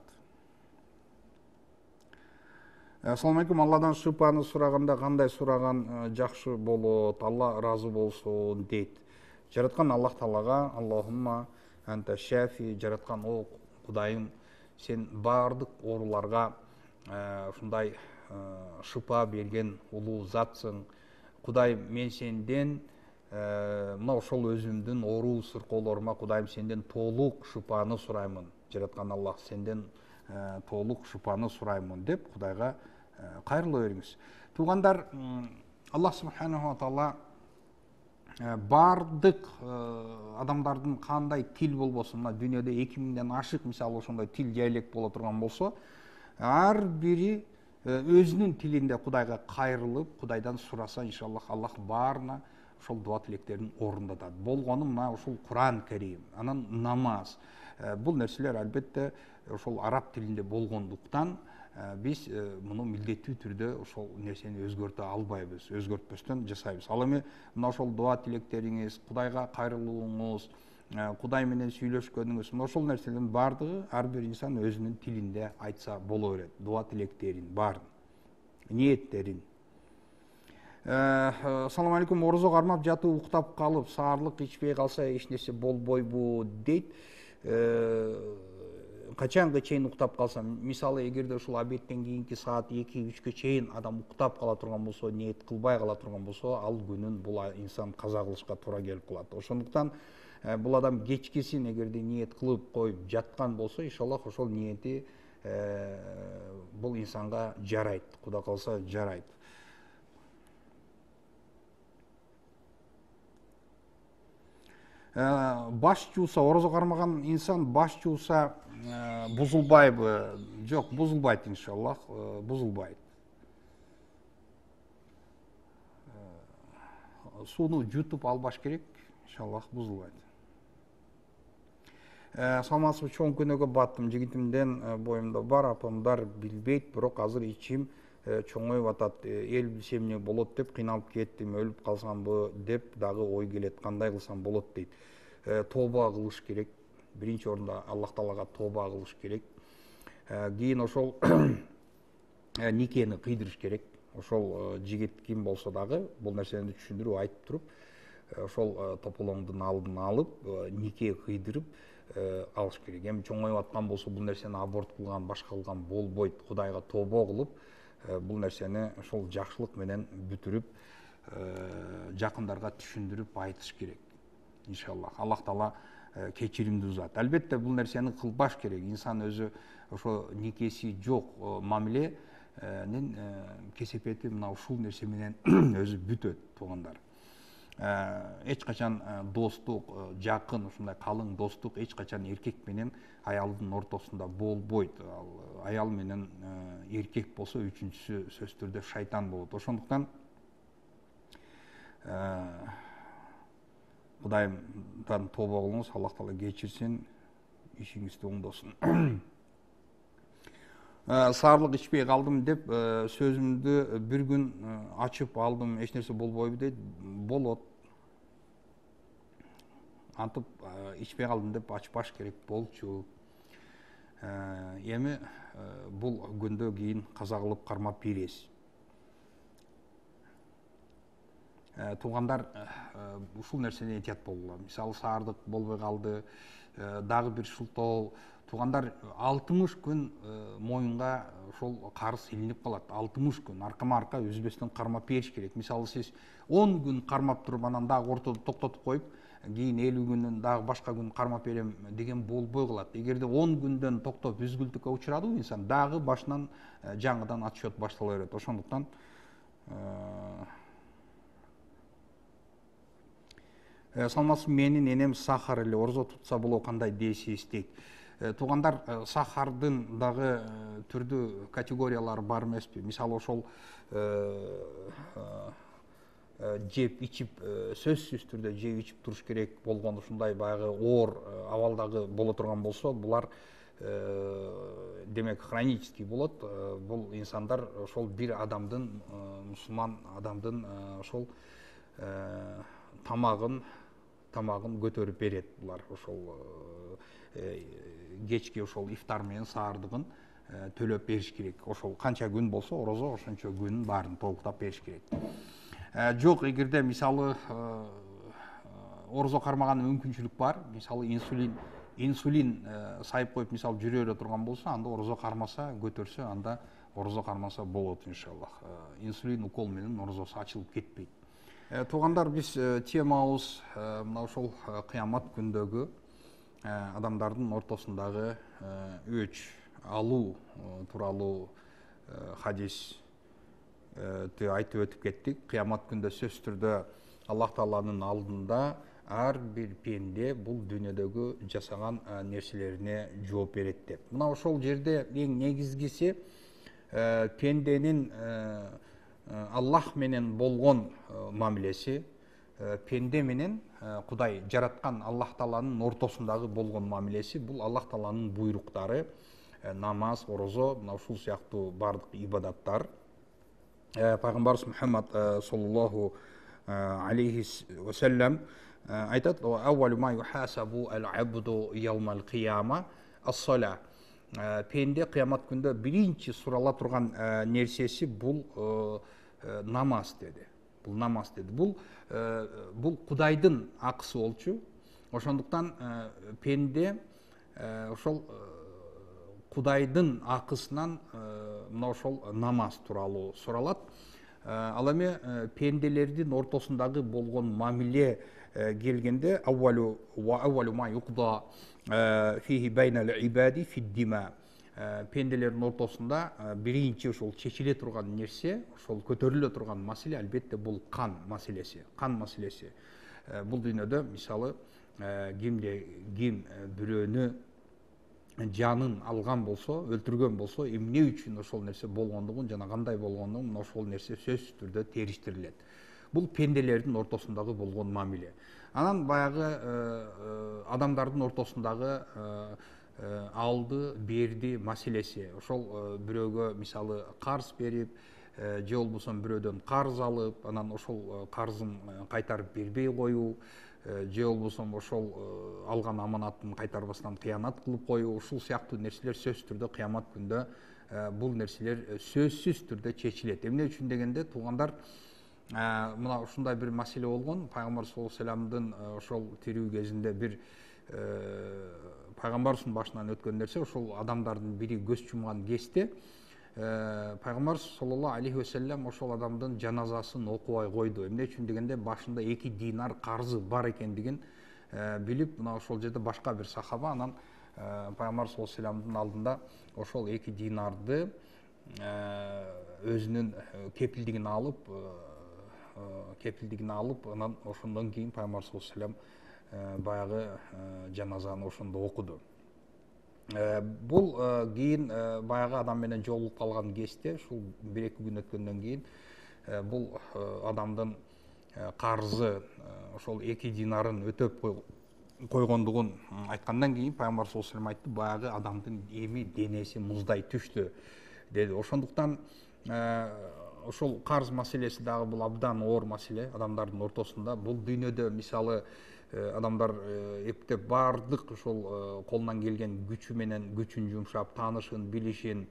Ассаламу алейкум, Алладан шыпаны сураганда кандай сураган жакшы болот? Алла ыраазы болсун дейт. Жараткан Аллах Таалага Аллахумма анта шафи, жараткан о Кудайым, сен баардык ооруларга ушундай шыпа берген улуу затсың. Кудай, мен сенден мына ошол өзүмдүн оору сыркоолорума Кудайым сенден толук шыпаны сураймын, жараткан Аллах сенден толук шыпаны сураймын деп Кудайга кайрыла бериңиз. Туугандар, Аллах субханаху ва таала бардык адамдардын кандай тил болбосун, мына дүйнөдө эки миңден ашык мисалы ошондой тил диалект боло турган болсо, ар бири өзүнүн тилинде Кудайга кайрылып, Кудайдан сураса, иншаллах Аллах баарына ошол дуа тилектерин орундатат. Болгону мына ушул Куран Карим, анан намаз. Бул нерселер албетте ошол араб тилинде болгондуктан биз муну милдеттүү түрдө ошол нерсени өзгөртө албайбыз, өзгөртпөстөн жасайбыз. Ал эми мына ошол дуа тилектериңиз, Кудайга кайрылууңуз, Кудай менен сүйлөшкөнүңүз, мына ошол нерселердин баардыгы ар бир инсан өзүнүн тилинде айтса боло берет. Дуа тилектерин баарын, ниеттерин. Assalamu алейкум, орозо кармап жатып уктап калып, саарлык ичпей калса эч нерсе болбойбу дейт. Качанга чейин уктап калсам, мисалы эгерде ушул обедтен кийинки саат эки үчкө чейин адам уктап кала турган болсо, ниет кылбай кала турган болсо, ал күнүн бул инсан каза кылышка туура келип калат. Ошондуктан бул адам кечкисин эгерде ниет кылып коюп жаткан болсо, иншаллах ошол ниети бул инсанга жарайт, Кудай калса жарайт. Баш жууса, орозо кармаган инсан баш жууса бузулбайбы? Жок, бузулбайт иншаллах, бузулбайт. Сууну жутуп албаш керек, иншаллах бузулбайт. Саламатсызбы, чоң күнөөгө баттым, жигитимден боюмда бар, апамдар билбейт, бирок азыр ичим чоңоюп атат, эл билсе эмне болот деп кыйналып кеттим, өлүп калсамбы деп дагы ой келет, кандай кылсам болот дейт. Тооба кылыш керек, биринчи орунда Аллах Таалага тооба кылыш керек. Кийин ошол никени кыйдырыш керек. Ошол жигит ким болсо дагы бул нерсени түшүндүрүп айтып туруп, ошол тополоңдун алдын алып, нике кыйдырып алыш керек. Эми чоңоюп аткан болсо бул нерсени аборт кылган, башка кылган болбойт. Кудайга тообо кылып, бул нерсени ошол жакшылык менен бүтүрүп, жакындарга түшүндүрүп айтыш керек. Иншаллах Аллах Таала кечиримдүү зат. Албетте бул нерсени кылбаш керек. Инсан өзү ошо никеси жок мамиленин кесепети мына ушул нерсе менен өзү бүтөт, туугандар. Эч качан достук, жакын, ушундай калың достук эч качан эркек менен аялдын ортосунда болбойт. Аял менен эркек болсо үчүнчүсү сөзсүз түрдө шайтан болот. Ошондуктан Кудайымдан тооба кылыңыз, Аллах Таала кечирсин, ишиңизди оңдосун. Саарлык ичпей калдым деп сөзүмдү бир күн ачып алдым, эч нерсе болбойбу дейт. Болот. Антып ичпей калдым деп ачпаш керек болчу. Эми бул күндө кийин каза кылып кармап бересиз. Туугандар, ушул нерседен этият болгула. Мисалы саардык болбой калды, дагы бир шылтоо. Туугандар, алтымыш күн моюнга ошол карыз илинип калат. алтымыш күн аркама-арка үзбөстөн кармап бериш керек. Мисалы сиз он күн кармап туруп, анан дагы ортодо токтотуп коюп, кийин элүү күндөн дагы башка күн кармап берем деген болбой калат. Эгерде он күндөн токтоп үзгүлтүккө учурадыбы инсан, дагы башынан жаңыдан отсчет баштала берет. Ошондуктан саламатсызбы, менин энем сахар эле, орозо тутса болобу, кандай дейсиз дейт. Туугандар, сахардын дагы түрдүү категориялары бар эмеспи? Мисалы ошол жеп ичип, сөзсүз түрдө жеп ичип туруш керек болгон ушундай баягы оор абалдагы боло турган болсо, булар демек хронический болот. Бул инсандар ошол бир адамдын, мусулман адамдын ошол тамагын тамагын көтөрүп берет. Булар ошол кечки ошол ифтар менен саардыгын төлөп бериш керек. Ошол канча күн болсо, орозо ошончо күнүн баарын толуктап бериш керек. Жок, эгерде мисалы орозо кармаган мүмкүнчүлүк бар, мисалы инсулин инсулин сайып коюп, мисалы жүрө бере турган болсо, анда орозо кармаса, көтөрсө, анда орозо кармаса болот иншаллах. Инсулин укол менен орозосу ачылып кетпейт. Туугандар, биз темабыз мына ошол кыямат күндөгү адамдардын ортосундагы өч алуу тууралуу хадисти айтып өтүп кеттик. Кыямат күндө сөзсүз түрдө Аллах Тааланын алдында ар бир пенде бул дүйнөдөгү жасаган нерселерине жооп берет деп. Мына ошол жерде эң негизгиси пенденин Аллах менен болгон мамилеси, пенде менен Кудай жараткан Аллах Тааланын ортосундагы болгон мамилеси, бул Аллах Тааланын буйруктары, намаз, орозо, мына ушул сыяктуу бардык ибадаттар. Пайгамбарыбыз Мухаммад саллаллаху алейхи ва саллям айтат: "Аввалу ма юхасабу ал-абду яумал кияма ас-сала". Пенде кыямат күндө биринчи сурала турган нерсеси бул намаз деди. Бул намаз деди. Бул бул Кудайдын акысы болчу. Ошондуктан пенде ошол Кудайдын акысынан мына ошол намаз тууралуу суралат. Ал эми пенделердин ортосундагы болгон мамиле келгенде аввалу ва аввалу ма юқда фихи байнал ибади фиддима. Пенделердин ортосунда биринчи ошол чечиле турган нерсе, ошол көтөрүлө турган маселе албетте бул кан маселеси. Кан маселеси. Бул дүйнөдө мисалы кимде ким бирөөнү жанын алган болсо, өлтүргөн болсо, эмне үчүн ошол нерсе болгондугун жана кандай болгондугун ошол нерсе сөзсүз түрдө териштирилет. Бул пенделердин ортосундагы болгон мамиле. Анан баягы адамдардын ортосундагы алды берди маселеси. Ошол бирөөгө мисалы карыз берип, же болбосо бирөөдөн карыз алып, анан ошол карызын кайтарып бербей коюу, же болбосо ошол алган аманатын кайтарбастан кыянат кылып коюу, ушул сыяктуу нерселер сөзсүз түрдө кыямат күндө бул нерселер сөзсүз түрдө чечилет. Эмне үчүн дегенде, туугандар, мына ушундай бир маселе болгон. Пайгамбар саллаллаху алейхи ва саллямдын ошол тирүү кезинде бир пайгамбарыбыздын башынан өткөн нерсе, ошол адамдардын бири көз жумган кезде пайгамбар саллаллаху алейхи ва саллям ошол адамдын жаназасын окубай койду. Эмне үчүн дегенде, башында эки динар карзы бар экендигин билип, мына ошол жерде башка бир сахаба анан пайгамбар саллаллаху алейхи ва саллямдын алдында ошол эки динарды өзүнүн кепилдигине алып, кепилдигине алып, анан ошондон кийин пайгамбар саллаллаху алейхи ва саллям баягы жаназаны ошондо окуду. Бул кийин баягы адам менен жолугуп калган кезде, ушул бир эки күн өткөндөн кийин бул адамдын карзы ошол эки динарын өтөп койгондугун айткандан кийин пайгамбар саллаллаху алейхи ва саллям айтты: "Баягы адамдын эми денеси муздай түштү" деди. Ошондуктан ошол карз маселеси дагы бул абдан оор маселе адамдардын ортосунда. Бул дүйнөдө мисалы адамдар эптеп бардык ошол колунан келген күчү менен күчүн жумшап, таанышын, билишин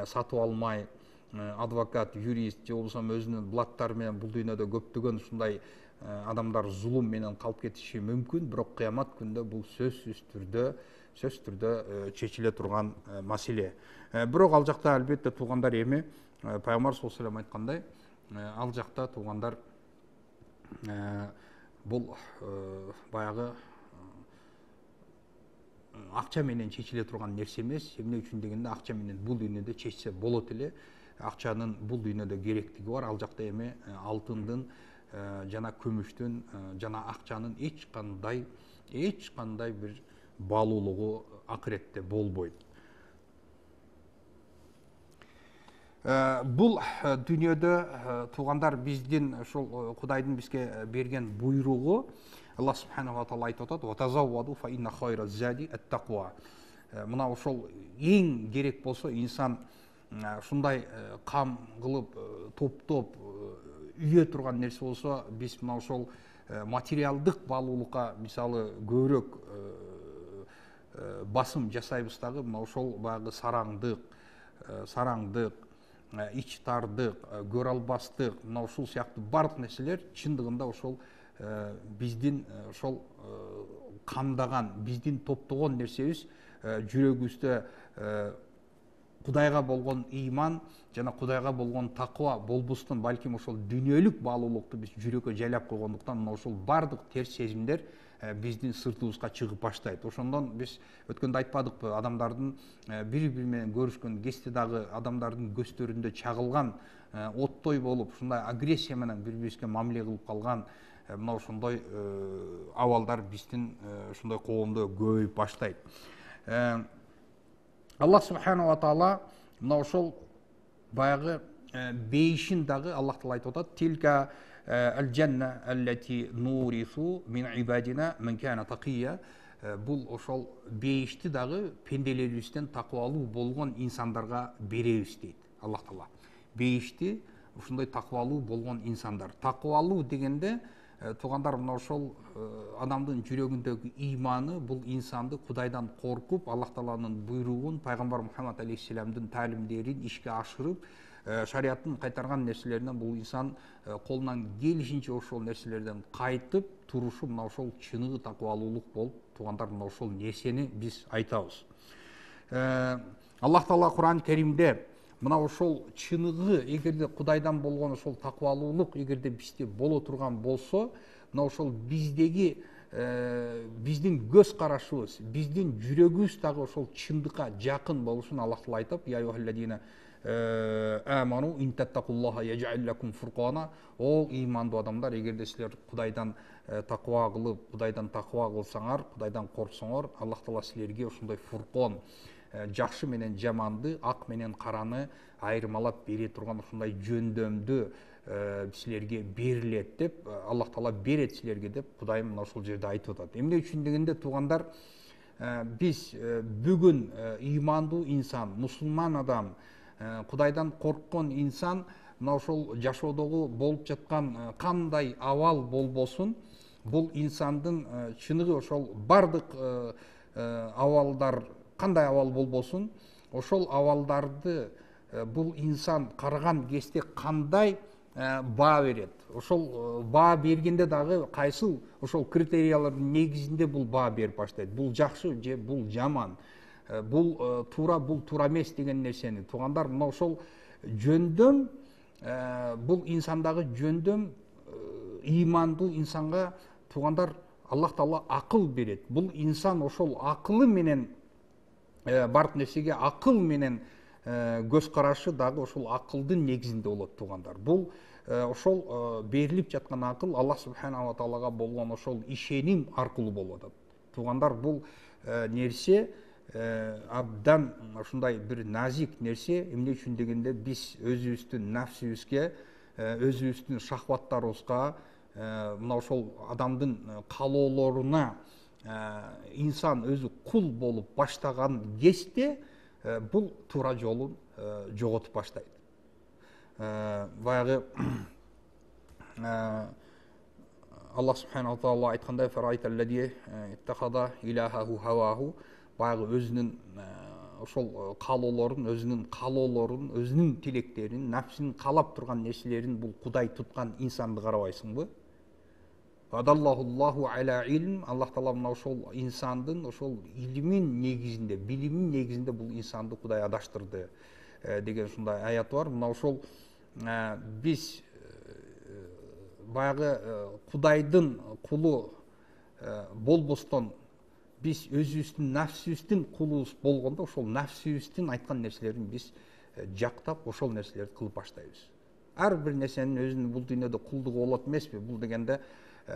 сатып алмай, адвокат, юрист же болбосо өзүнүн блаттары менен бул дүйнөдө көптөгөн ушундай адамдар зулум менен калып кетиши мүмкүн, бирок кыямат күндө бул сөзсүз түрдө сөзсүз түрдө чечиле турган маселе. Бирок ал жакта албетте туугандар, эми пайгамбар саллаллаху алейхи ва саллям айткандай, ал жакта туугандар бул баягы акча менен чечиле турган нерсе эмес. Эмне үчүн дегенде, акча менен бул дүйнөдө чечсе болот эле. Акчанын бул дүйнөдө керектиги бар. Ал жакта эми алтындын жана күмүштүн жана акчанын эч кандай эч кандай бир баалуулугу акыретте болбойт. Бул дүйнөдө туугандар, биздин ошол Кудайдын бизге берген буйругу, Аллах субханаху ва таала айтып атат: "Ва тазавваду фа инна хайраз зади ат-тaqwa". Мына ошол эң керек болсо, инсан ушундай кам кылып топтоп үйө турган нерсе болсо, биз мына ошол материалдык баалуулукка мисалы көбүрөөк басым жасайбыз дагы, мына ошол баягы сараңдык, сараңдык, ич тардык, көрө албастык, мына ушул сыяктуу бардык нерселер чындыгында ошол биздин ошол камдаган, биздин топтогон нерсебиз, жүрөгүбүздө Кудайга болгон ыйман жана Кудайга болгон такыба болбустун, балким ошол дүйнөлүк баалуулукту биз жүрөккө жайлап койгондуктан мына ошол бардык терс сезимдер биздин сыртыбызга чыгып баштайт. Ошондон биз өткөндө айтпадыкпы, адамдардын бири бири менен көрүшкөн кезде дагы адамдардын көздөрүндө чагылган оттой болуп, ушундай агрессия менен бири бирибизге мамиле кылып калган мына ошондой абалдар биздин ушундай коомдо көбөйүп баштайт. Аллах субханала ва таала мына ошол баягы бейишин дагы Аллах таала айтып атат: "Тилка ал-жанна аллати нурису мин ибадина мен кана тaqiyya". Бул ошол бейишти дагы пенделерибизден такыбалуу болгон инсандарга беребиз дейт Аллах таала. Бейишти ушундай такыбалуу болгон инсандар. Такыбалуу дегенде туугандар мына ошол адамдын жүрөгүндөгү ыйманы, бул инсанды Кудайдан коркуп, Аллах тааланын буйругун, пайгамбар Мухаммад алейхиссаламдын таалимдерин ишке ашырып, шариаттын кайтарган нерселеринен бул инсан колунан келишинче ошол нерселерден кайтып турушу мына ошол чыныгы такыбалуулук болуп, туугандар мына ошол нерсени биз айтабыз. Аллах таала Кур'ан Керимде мына ошол чыныгы, эгерде Кудайдан болгон ошол такыбалуулук эгерде бизде боло турган болсо, мына ошол биздеги биздин көз карашыбыз, биздин жүрөгүбүз дагы ошол чындыкка жакын болушун Аллах таала айтып: "Я юхалладина аману ин таттакуллаха яж'ал лакум фуркана". О ыймандуу адамдар, эгерде силер Кудайдан такыба кылып, Кудайдан такыба кылсаңар, Кудайдан корксоңор, Аллах таала силерге ошондой фуркон, жакшы менен жаманды, ак менен караны айырмалап бере турган ушундай жөндөмдү силерге берилет деп, Аллах таала берет силерге деп Кудайым мына ошол жерде айтып атат. Эмне үчүн дегенде, туугандар, биз бүгүн ыймандуу инсан, мусулман адам, Кудайдан корккон инсан мына ошол жашоодогу болуп жаткан кандай абал болбосун, бул инсандын чыныгы ошол бардык абалдар кандай абал болбосун, ошол абалдарды бул инсан караган кезде кандай баа берет. Ошол баа бергенде дагы кайсыл ошол критериялардын негизинде бул баа берип баштайт. Бул жакшы же бул жаман, бул туура, бул туура эмес деген нерсени. Туугандар, мына ошол жөндөм, бул инсандагы жөндөм, ыймандуу инсанга туугандар Аллах таала акыл берет. Бул инсан ошол акылы менен бардык нерсеге акыл менен көз карашы дагы ошол акылдын негизинде болот, туугандар. Бул ошол берилип жаткан акыл Аллах субханала таалага болгон ошол ишеним аркылуу болуп атат. Туугандар, бул нерсе абдан ушундай бир назик нерсе. Эмне үчүн дегенде, биз өзүбүздүн нафсибизге, өзүбүздүн шахваттарыбызга, мына ошол адамдын каалоолоруна инсан өзү кул болуп баштаган кезде бул туура жолун жоготуп баштайт. Баягы Аллах субханала таала айткандай: "Фарайталлади иттахада илахаху хаваху", баягы өзүнүн ошол каалоолорун, өзүнүн каалоолорун, өзүнүн тилектерин, нафсинин каалап турган нерселерин бул Кудай туткан инсанды карабайсыңбы? Адаллахуллаху аля илм. Аллах таала мына ошол инсандын ошол илимин негизинде, билимин негизинде бул инсанды Кудай адаштырды деген ушундай аят бар. Мына ошол биз баягы Кудайдын кулу болбостон, биз өзүбүздүн нафсибиздин кулубуз болгондо, ошол нафсибиздин айткан нерселерин биз жактап, ошол нерселерди кылып баштайбыз. Ар бир нерсенин өзүнүн бул дүйнөдө кулдугу болот эмеспи? Бул дегенде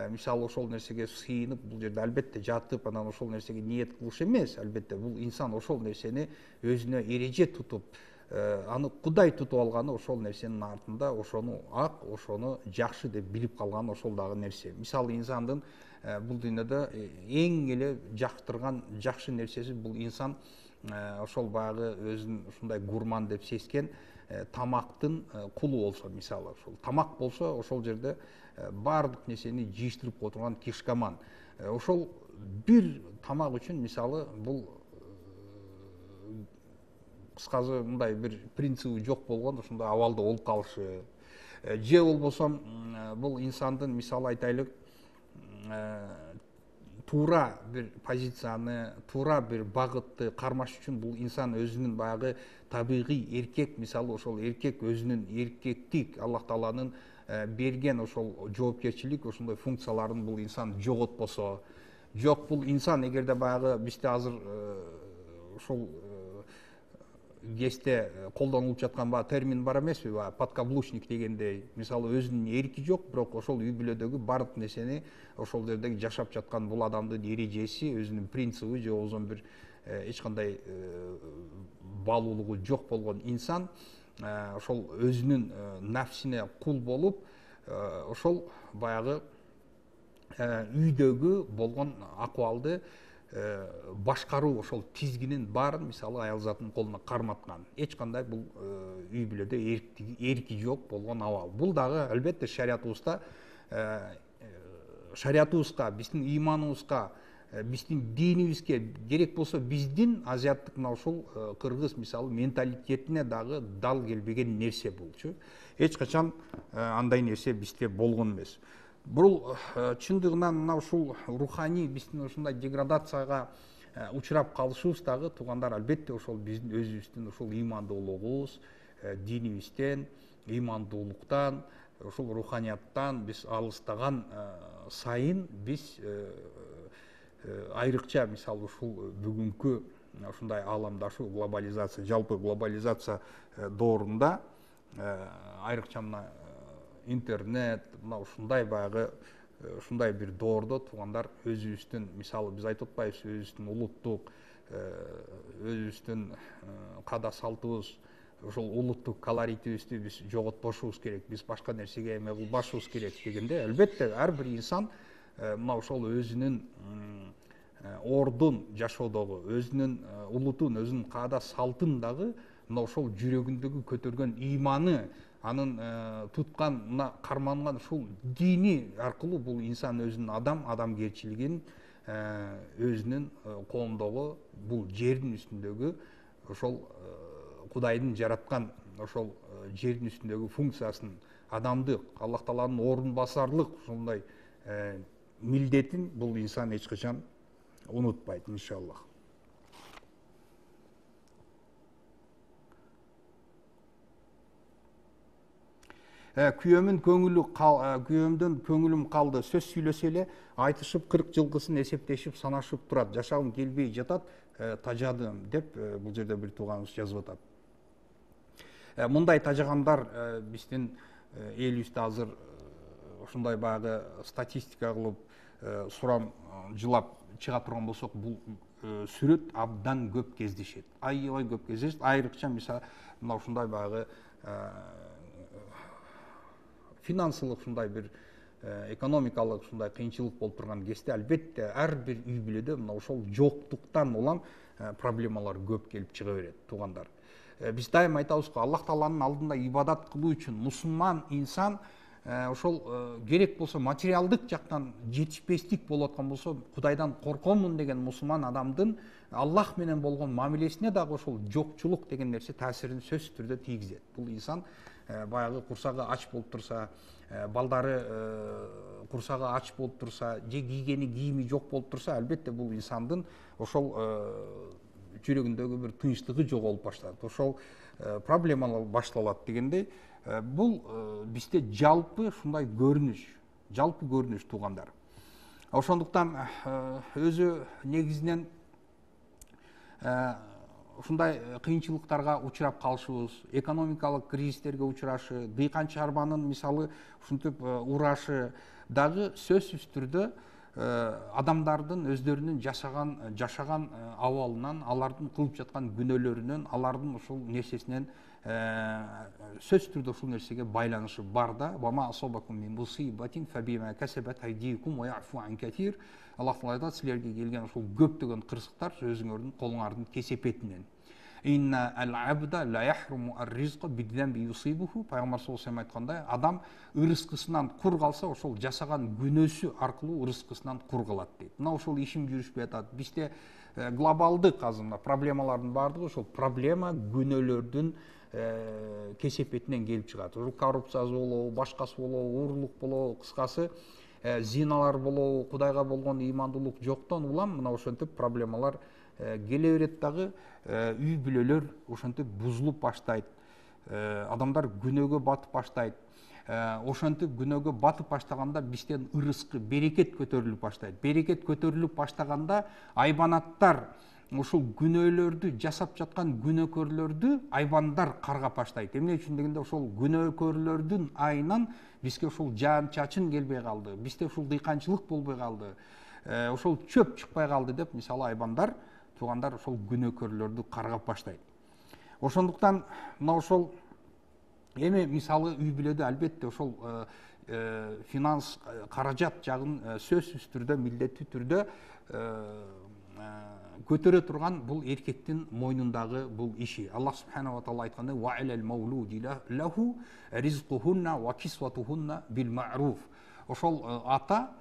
мисалы ошол нерсеге сыйынып, бул жерде албетте жатып, анан ошол нерсеге ниет кылыш эмес. Албетте бул инсан ошол нерсени өзүнө эреже тутуп, аны Кудай тутуп алганы, ошол нерсенин артында ошону ак, ошону жакшы деп билип калган ошол дагы нерсе. Мисалы инсандын бул дүйнөдө эң эле жактырган жакшы нерсеси, бул инсан ошол баягы өзүн ушундай гурман деп сезген тамактын кулу болсо, мисалы ошол тамак болсо, ошол жерде бардык нерсени жыйыштырып отурган кишкаман. Ошол бир тамак үчүн, мисалы, бул кыскасы мындай бир принциби жок болгон ушундай абалда болуп калышы. Же болбосо бул инсандын, мисалы айтайлык, туура бир позицияны, туура бир багытты кармаш үчүн бул инсан өзүнүн баягы табигый эркек, мисалы ошол эркек өзүнүн эркектик Аллах Тааланын берген ошол жоопкерчилик, ошондой функцияларын бул инсан жоготпосо, жок бул инсан эгерде баягы бизде азыр ошол кесте колдонулуп жаткан баягы термин бар эмеспи, баягы подкаблучник дегендей, мисалы өзүнүн эрки жок, бирок ошол үй бүлөдөгү баардык нерсени ошол жерде жашап жаткан бул адамдын эрежеси, өзүнүн принциби же болбосо бир эч кандай баалуулугу жок болгон инсан ошол өзүнүн нафсине кул болуп, ошол баягы үйдөгү болгон акыбалды башкаруу ошол тизгинин баарын мисалы аял затынын колуна карматкан. Эч кандай бул үй бүлөдө эрки жок болгон абал. Бул дагы албетте шариятыбызда шариятыбызга, биздин ыйманыбызга, биздин динибизге керек болсо биздин азиаттык мына ушул кыргыз мисалы менталитетине дагы дал келбеген нерсе булчу. Эч качан андай нерсе бизде болгон эмес. Бул чындыгынан мына ушул руханий биздин ушундай деградацияга учурап калышыбыз дагы туугандар албетте ошол биздин өзүбүздүн ушул ыймандуулугубуз, динибизден, ыймандуулуктан, ушул руханияттан биз алыстаган сайын биз айрыкча мисалы ушул бүгүнкү ушундай ааламдашуу, глобализация, жалпы глобализация доорунда айрыкча мына интернет, мына ушундай баягы ушундай бир доордо туугандар өзүбүздүн мисалы биз айтып атпайбызбы, өзүбүздүн улуттук, өзүбүздүн каада салтыбыз, ошол улуттук колоритибизди биз жоготпошубуз керек, биз башка нерсеге эме кылбашыбыз керек дегенде, албетте ар бир инсан мына ошол өзүнүн ордун жашоодогу, өзүнүн улутун, өзүнүн каада салтын дагы мына ошол жүрөгүндөгү көтөргөн ыйманы, анын туткан, мына карманган ушул дини аркылуу бул инсан өзүнүн адам, адамгерчилигин, өзүнүн коомдогу, бул жердин үстүндөгү ошол Кудайдын жараткан ошол жердин үстүндөгү функциясын, адамдык, Аллах Тааланын ордун басарлык ушундай милдетин бул инсан эч качан унутпайт, иншаллах. Күйөөмүн көңүлү күйөөмдөн көңүлүм калды. Сөз сүйлөсө эле айтышып кырк жылкысын эсептешип санашып турат. Жашагым келбей жатат, тажадым деп бул жерде бир тууганыбыз жазып атат. Мындай тажагандар биздин элибизде азыр ушундай баягы статистика кылып сурам жылап чыга турган болсок, бул сүрөт абдан көп кездешет. Аябай көп кездешет. Айрыкча мисалы мына ушундай баягы финансылык ушундай бир экономикалык ушундай кыйынчылык болуп турган кезде албетте ар бир үй бүлөдө мына ошол жоктуктан улам проблемалар көп келип чыга берет, туугандар. Биз дайыма айтабыз го, Аллах Тааланын алдында ибадат кылуу үчүн мусулман инсан ошол керек болсо материалдык жактан жетишпестик болуп аткан болсо, Кудайдан коркомун деген мусулман адамдын Аллах менен болгон мамилесине дагы ошол жокчулук деген нерсе таасирин сөзсүз түрдө тийгизет. Бул инсан баягы курсагы ач болуп турса, балдары курсагы ач болуп турса, же кийгени кийими жок болуп турса, албетте бул инсандын ошол жүрөгүндөгү бир тынчтыгы жоголуп баштайт. Ошол проблемалар башталат дегендей, бул бизде жалпы ушундай көрүнүш, жалпы көрүнүш туугандар. Ошондуктан өзү негизинен ушундай кыйынчылыктарга учурап калышыбыз, экономикалык кризистерге учурашы, дыйкан чарбанын мисалы ушинтип урашы дагы сөзсүз түрдө адамдардын өздөрүнүн жашаган жашаган абалынан, алардын кылып жаткан күнөөлөрүнөн, алардын ушул нерсесинен сөзсүз түрдө ушул нерсеге байланышы бар да. Вама асабакум мин мусибатин фабима касабат айдикум ва яфу ан катир. Аллах Таала айтат, силерге келген ушул көптөгөн кырсыктар өзүңөрдүн колуңардын кесепетинен. Инна ал-абда ла яхруму ар-ризqa бидзамби юсибуху. Пайгамбар саллаллаху алейхи айткандай, адам ырыскысынан кур калса, ошол жасаган күнөөсү аркылуу ырыскысынан кур калат дейт. Мына ошол ишим жүрүшпөй атат. Бизде глобалдык азыр мына проблемалардын баардыгы ошол проблема күнөөлөрдүн кесепетинен келип чыгат. Коррупциясы болобу, башкасы болобу, уурулук болобу, кыскасы зиналар болобу, Кудайга болгон ыймандуулук жоктон улам мына ошентип проблемалар келе берет дагы, үй бүлөлөр ошентип бузулуп баштайт, адамдар күнөөгө батып баштайт. Ошентип күнөөгө батып баштаганда бизден ырыскы, берекет көтөрүлүп баштайт. Берекет көтөрүлүп баштаганда айбанаттар ошол күнөөлөрдү жасап жаткан күнөөкөрлөрдү айбандар каргап баштайт. Эмне үчүн дегенде ошол күнөөкөрлөрдүн айынан бизге ошол жаан чачын келбей калды, бизде ушул дыйканчылык болбой калды, ошол чөп чыкпай калды деп мисалы айбандар, туугандар ошол күнөөкөрлөрдү каргап баштайт. Ошондуктан мына ошол эми мисалы үй бүлөдө албетте ошол финанс, каражат жагын сөзсүз түрдө, милдеттүү түрдө көтөрө турган бул эркектин мойнундагы бул иши. Аллах субханаху ва таала айткандай: "Ва алал маулуди лаху ризкухунна ва кисватухунна бил ма'руф". Ошол ата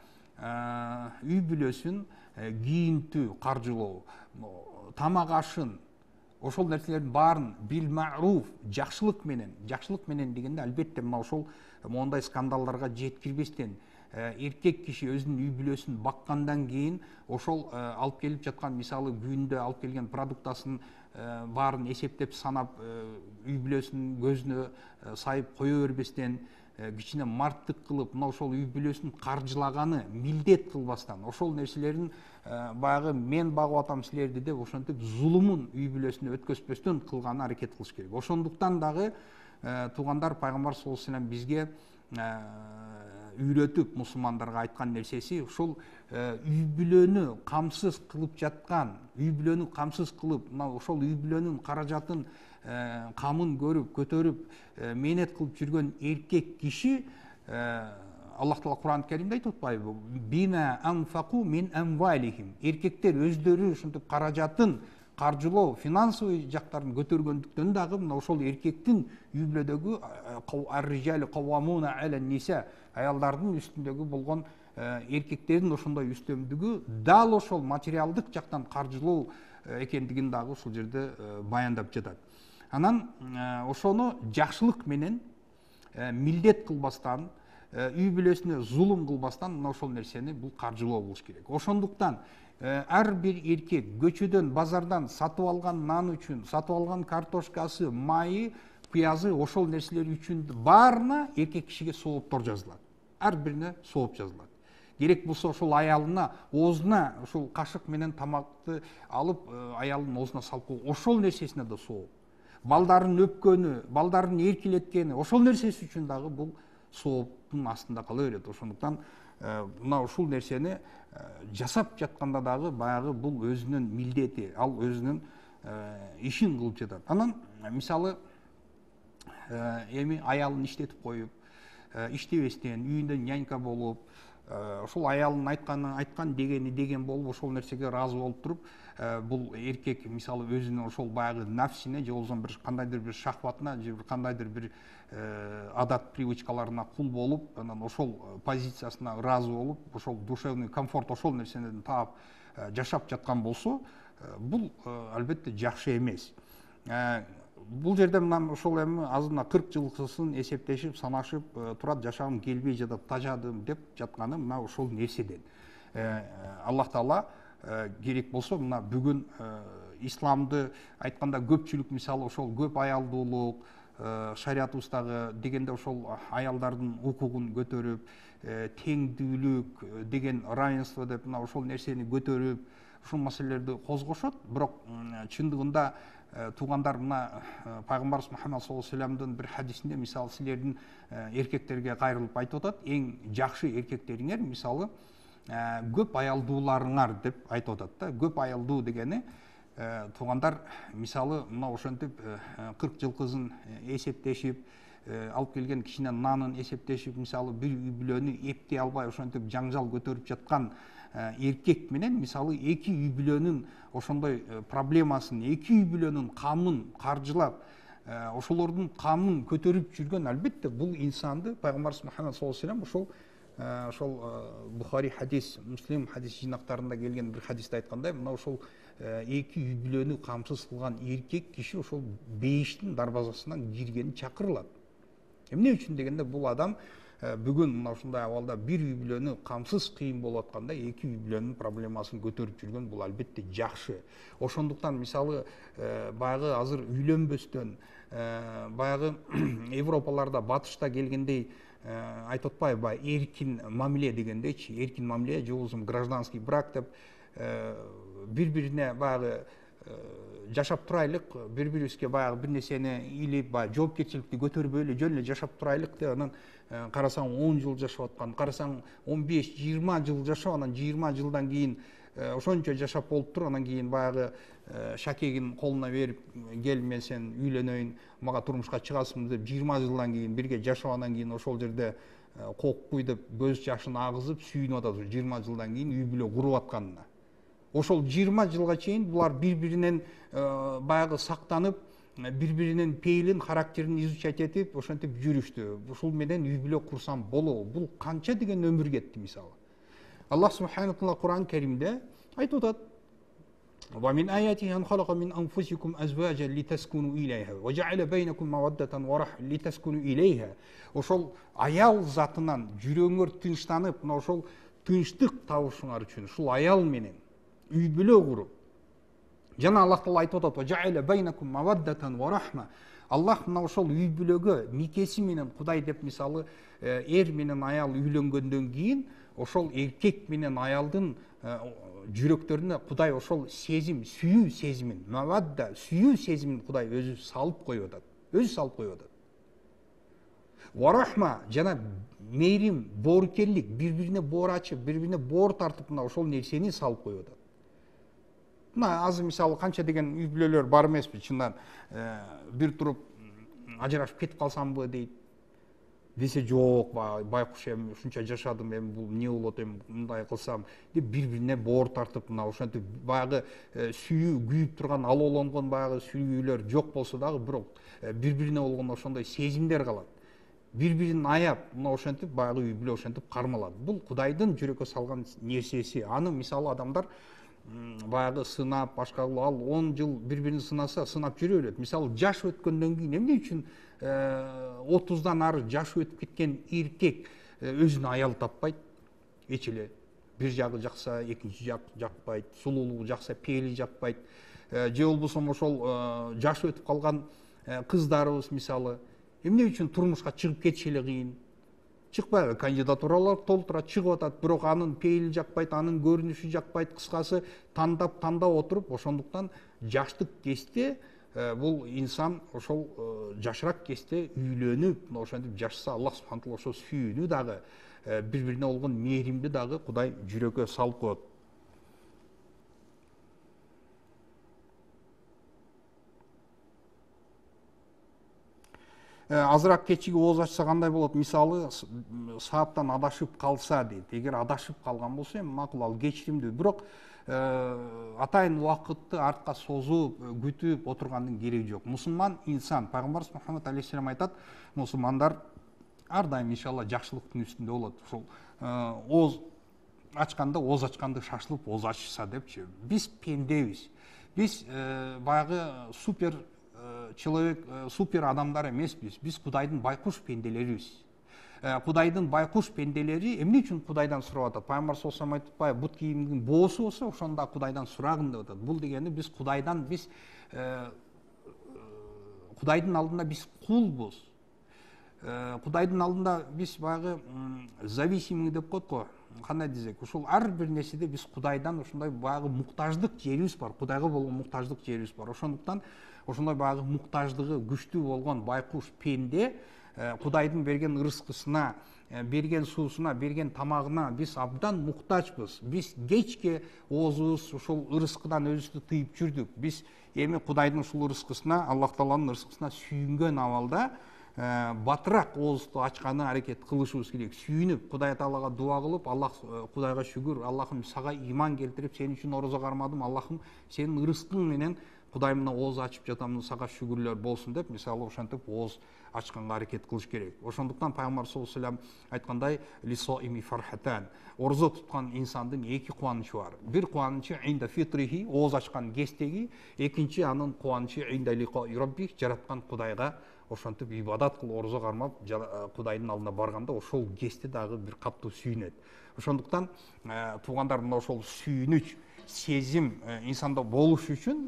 үй бүлөсүн кийинтүү, каржылоо, тамак ашын, ошол нерселердин баарын бил ма'руф, жакшылык менен, жакшылык менен дегенде албетте мына ошол мондай скандалдарга жеткирбестен, эркек киши өзүнүн үй бүлөсүн баккандан кийин ошол алып келип жаткан мисалы күндө алып келген продуктасын баарын эсептеп санап, үй бүлөсүнүн көзүнө сайып кое бербестен, кичине марттык кылып, мына ошол үй бүлөсүн каржылаганы милдет кылбастан, ошол нерселерин баягы мен багып атам силерди деп ошентип зулумун үй бүлөсүнө өткөзбөстөн кылганы аракет кылыш керек. Ошондуктан дагы туугандар, пайгамбар саллаллаху алейхи ва саллям бизге үйрөтүп мусулмандарга айткан нерсеси ушул үй бүлөнү камсыз кылып жаткан, үй бүлөнү камсыз кылып, мына ошол үй бүлөнүн каражатын, камын көрүп, көтөрүп, мээнет кылып жүргөн эркек киши, Аллах Таала Кур'ан Каримде айтып атпайбы? Бима анфаку мин амвалихим. Эркектер өздөрү ушинтип каражатын, каржылоо, финансовый жактарын көтөргөндүктөн дагы мына ошол эркектин үй бүлөдөгү ар-rijal qawwamuna 'ala an-nisa, аялдардын үстүндөгү болгон эркектердин ошондой үстөмдүгү дал ошол материалдык жактан каржылоо экендигин дагы ушул жерде баяндап жатат. Анан ошону жакшылык менен, милдет кылбастан, үй бүлөсүнө зулум кылбастан мына ошол нерсени бул каржылоо болуш керек. Ошондуктан ар бир эркек көчөдөн, базардан сатып алган нан үчүн, сатып алган картошкасы, майы, пиязы, ошол нерселер үчүн баарына эркек кишиге сооптор жазылат. Ар бирине сооп жазылат. Керек болсо ошол аялына оозуна ошол кашык менен тамакты алып, аялдын оозуна салып койгон, ошол нерсесине да сооп. Балдарын өпкөнү, балдарын эркелеткени, ошол нерсеси үчүн дагы бул сооптун астында кала берет. Ошондуктан мына ушул нерсени жасап жатканда дагы баягы бул өзүнүн милдети, ал өзүнүн ишин кылып жатат. Анан мисалы эми аялын иштетип коюп, иштебестен, үйүндө нянька болуп, ошол аялын айтканы айткан, дегени деген болуп, ошол нерсеге ыраазы болуп туруп, бул эркек мисалы өзүнүн ошол баягы нафсине же болбосо бир кандайдыр бир шахватына же кандайдыр бир адат привычкаларына кул болуп, анан ошол позициясына ыраазы болуп, ошол душевный комфорт ошол нерсени таап жашап жаткан болсо, бул албетте жакшы эмес. Бул жерде мына ошол эми азырына кырк жылкысын эсептешип, санашып турат, жашагым келбей жатат, тажадым деп жатканы мына ошол нерседен. Аллах Таала керек болсо мына бүгүн исламды айтканда көпчүлүк мисалы ошол көп аялдуулук, шариятыбыздагы дегенде ошол аялдардын укугун көтөрүп, теңдүүлүк деген, равенство деп мына ошол нерсени көтөрүп, ушул маселелерди козгошот. Бирок чындыгында туугандар, мына пайгамбарыбыз Мухаммад саллаллаху алейхи ва саллямдын бир хадисинде мисалы силердин эркектерге кайрылып айтып атат, эң жакшы эркектериңер мисалы көп аялдууларыңар деп айтып атат да. Көп аялдуу дегени туугандар мисалы мына ошентип кырк жылкысын эсептешип, алып келген кичине нанын эсептешип, мисалы бир үй бүлөнү эптей албай ошентип жаңжал көтөрүп жаткан эркек менен мисалы эки үй бүлөнүн ошондой проблемасын, эки үй бүлөнүн камын каржылап, ошолордун камын көтөрүп жүргөн, албетте бул инсанды пайгамбарыбыз Мухаммад саллаллаху алейхи ва саллям ошол ошол Бухари хадис, Муслим хадис жинактарында келген бир хадисте айткандай, мына ошол эки үй бүлөнү камсыз кылган эркек киши ошол бейиштин дарбазасынан киргени чакырылат. Эмне үчүн дегенде, бул адам бүгүн мына ушундай абалда бир үй бүлөнү камсыз кыйын болуп атканда эки үй бүлөнүн проблемасын көтөрүп жүргөн бул албетте жакшы. Ошондуктан мисалы баягы азыр үйлөнбөстөн баягы Европаларда батышта келгендей айтып атпайбы, баягы эркин мамиле дегендейчи, эркин мамиле же болбосо гражданский брак деп бири-бирине баягы жашап турайлык, бири-бирибизге баягы бир нерсени илип, баягы жоопкерчиликти көтөрбөй эле жөн эле жашап турайлык деп, анан карасаң он жыл жашап аткан, карасаң он беш жыйырма жыл жашап, анан жыйырма жылдан кийин ошончо жашап болуп туруп, анан кийин баягы шакегин колуна берип, кел мен сен үйлөнөйүн, мага турмушка чыгасыңбы деп жыйырма жылдан кийин бирге жашап, анан кийин ошол жерде кокпуй деп көз жашын агызып сүйүнүп атат жыйырма жылдан кийин үй бүлө куруп атканына. Ошол жыйырма жылга чейин булар бири-биринен баягы сактанып, бири-биринин пейилин, характерин изучать этип, ошентип жүрүштү. Ушул менен үй бүлө курсам болобу? Бул канча деген өмүр кетти мисалы. Аллах субханаху ва таала Кур'ан Каримде айтып атат: "Ва мин аятихи ан халака мин анфусикум азважан литаскуну илейха ва жа'ала байнакум маваддатан ва рахма литаскуну илейха." Ошол аял затынан жүрөгүңөр тынчтанып, мына ошол тынчтык табышыңар үчүн ушул аял менен үй бүлө куруп. Жана Аллах Таала айтып атат: "Ва жа'ала байнакум маваддатан ва рахма." Аллах мына ошол үй бүлөгө никеси менен Кудай деп мисалы эр менен аял үйлөнгөндөн кийин ошол эркек менен аялдын жүрөктөрүнө Кудай ошол сезим, сүйүү сезимин, мавадда, сүйүү сезимин Кудай өзү салып коюп атат. Өзү салып коюп атат. Ва рахма жана мейрим, боорукерлик, бири-бирине боор ачып, бири-бирине боор тартып, мына ошол нерсени салып коюп атат. Мына азыр мисалы канча деген үй бүлөлөр бар эмеспи, чындан бир туруп ажырашып кетип калсамбы дейт. Десе жок, байкуш эми ушунча жашадым, эми бул эмне болот, эми мындай кылсам деп бири-бирине боор тартып, мына ошентип баягы сүйүү күйүп турган, алоолонгон баягы сүйүүлөр жок болсо дагы, бирок бири-бирине болгон ошондой сезимдер калат. Бири-бирин аяп, мына ошентип баягы үй бүлө ошентип кармалат. Бул Кудайдын жүрөккө салган нерсеси. Аны мисалы адамдар баягы сынап, башка ал он жыл бири-бирин сынаса, сынап жүрө берет. Мисалы жаш өткөндөн кийин эмне үчүн отуздан ары жашы өтүп кеткен эркек өзүнө аял таппайт? Эч эле бир жагы жакса, экинчи жак жакпайт, сулуулугу жакса, пейили жакпайт. Же болбосо ошол жашы өтүп калган кыздарыбыз мисалы эмне үчүн турмушка чыгып кетиши эле кыйын? Чыкпайбы, кандидатуралар толтурат, чыгып атат, бирок анын пейили жакпайт, анын көрүнүшү жакпайт, кыскасы тандап тандап отуруп, ошондуктан жаштык кезде бул инсан ошол жашыраак кезде үйлөнүп, мына ошентип жашаса, Аллах субханаху ва таала ошол сүйүүнү дагы, бири-бирине болгон мээримди дагы Кудай жүрөккө салып коет. Азыраак кечиги ооз ачса кандай болот? Мисалы, сааттан адашып калса дейт. Эгер адашып калган болсо, эми макул, ал кечиримдүү. Бирок атайын убакытты артка созуп, күтүп отургандын кереги жок. Мусулман инсан, пайгамбарыбыз Мухаммад алейхиссалам айтат, мусулмандар ар дайым иншалла жакшылыктын үстүндө болот. Ошол ооз ачканда, ооз ачканды шашылып ооз ачса депчи. Биз пендебиз. Биз баягы супер человек, супер адамдар эмеспиз. Биз Кудайдын байкуш пенделерибиз. Кудайдын байкуш пенделери эмне үчүн Кудайдан сурап атат? Пайгамбар саллаллаху алейхи вассалам айтпайбы, бут кийимдин боосу болсо, ошондо Кудайдан сурагын деп атат. Бул дегени биз Кудайдан биз Кудайдын алдында биз кулбуз. Кудайдын алдында биз баягы зависимый деп коет го. Кандай десек, ушул ар бир нерседе биз Кудайдан ошондой баягы муктаждык жерибиз бар. Кудайга болгон муктаждык жерибиз бар. Ошондуктан ошондой баягы муктаждыгы күчтүү болгон байкуш пенде Кудайдын берген ырыскысына, берген суусуна, берген тамагына биз абдан муктажбыз. Биз кечке оозубуз ушул ырыскыдан өзүбүздү тыйып жүрдүк. Биз эми Кудайдын ушул ырыскысына, Аллах Тааланын ырыскысына сүйүнгөн абалда батыраак оозду ачканы аракет кылышыбыз керек. Сүйүнүп, Кудай Таалага дуа кылып, Аллах, Кудайга шүгүр, Аллахым сага иман келтирип, сен үчүн орозо кармадым, Аллахым сенин ырыскың менен Кудайымна ооз ачып жатамын, сага шүгүрлөр болсун деп, мисалы ошентип ооз ачканга аракет кылыш керек. Ошондуктан пайгамбар саллаллаху алейхи ва саллям айткандай, лисоими фархатан, орозо туткан инсандын эки кубанычы бар. Бир кубанычы инда фитрихи, ооз ачкан кездеги, экинчи анын кубанычы инда лиқои рабби, жараткан Кудайга ошентип ибадат кылып, орозо кармап, Кудайдын алдына барганда ошол кезде дагы бир катуу сүйүнөт. Ошондуктан туугандар, мына ошол сүйүнүч сезим инсанда болуш үчүн,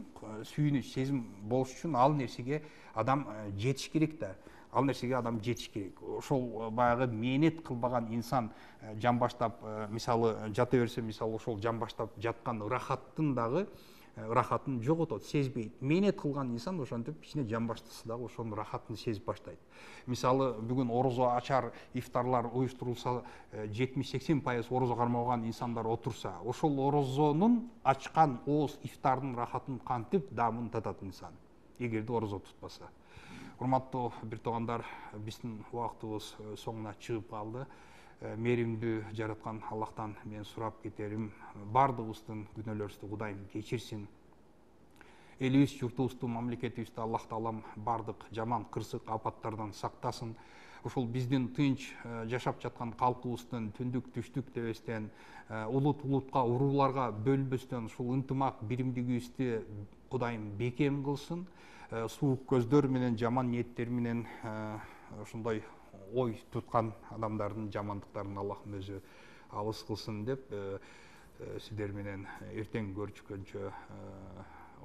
сүйүнүч сезим болуш үчүн ал нерсеге адам жетиш керек да. Ал нерсеге адам жетиш керек. Ошол баягы мээнет кылбаган инсан жан баштап, мисалы жата берсе, мисалы ошол жан баштап жаткан ырахаттын дагы ырахатын жоготот, сезбейт. Мээнет кылган инсан ошентип кичине жан баштаса дагы ошонун ырахатын сезип баштайт. Мисалы бүгүн орозо ачар ифтарлар уюштурулса, жетимиш сексен пайыз орозо кармаган инсандар отурса, ошол орозонун ачкан ооз ифтардын ырахатын кантип даамын татат инсан, эгерде орозо тутпаса. Урматтуу бир туугандар, биздин убактыбыз соңуна чыгып калды. Мээримдүү жараткан Аллахтан мен сурап кетерим, бардыгыбыздын күнөөлөрүбүздү Кудайым кечирсин. Элибиз, журтубузду, мамлекетибизди Аллах таалам бардык жаман кырсык апаттардан сактасын. Ошол биздин тынч жашап жаткан калкыбыздын түндүк түштүк дебестен, улут улутка, урууларга бөлүнбөстөн ушул ынтымак биримдигибизди Кудайым бекем кылсын. Суук көздөр менен, жаман ниеттер менен ошондой ой туткан адамдардын жамандыктарын Аллахым өзү алыс кылсын деп сиздер менен эртең көрүшкөнчө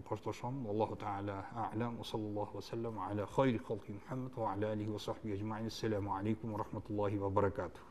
коштошом. Аллаху таала а'лам. Ва саллаллаху ва саллам аля хайри халқи Мухаммад ва аля алихи ва сахбихи ажмаин. Ассаламу алейкум ва рахматуллахи ва баракатух.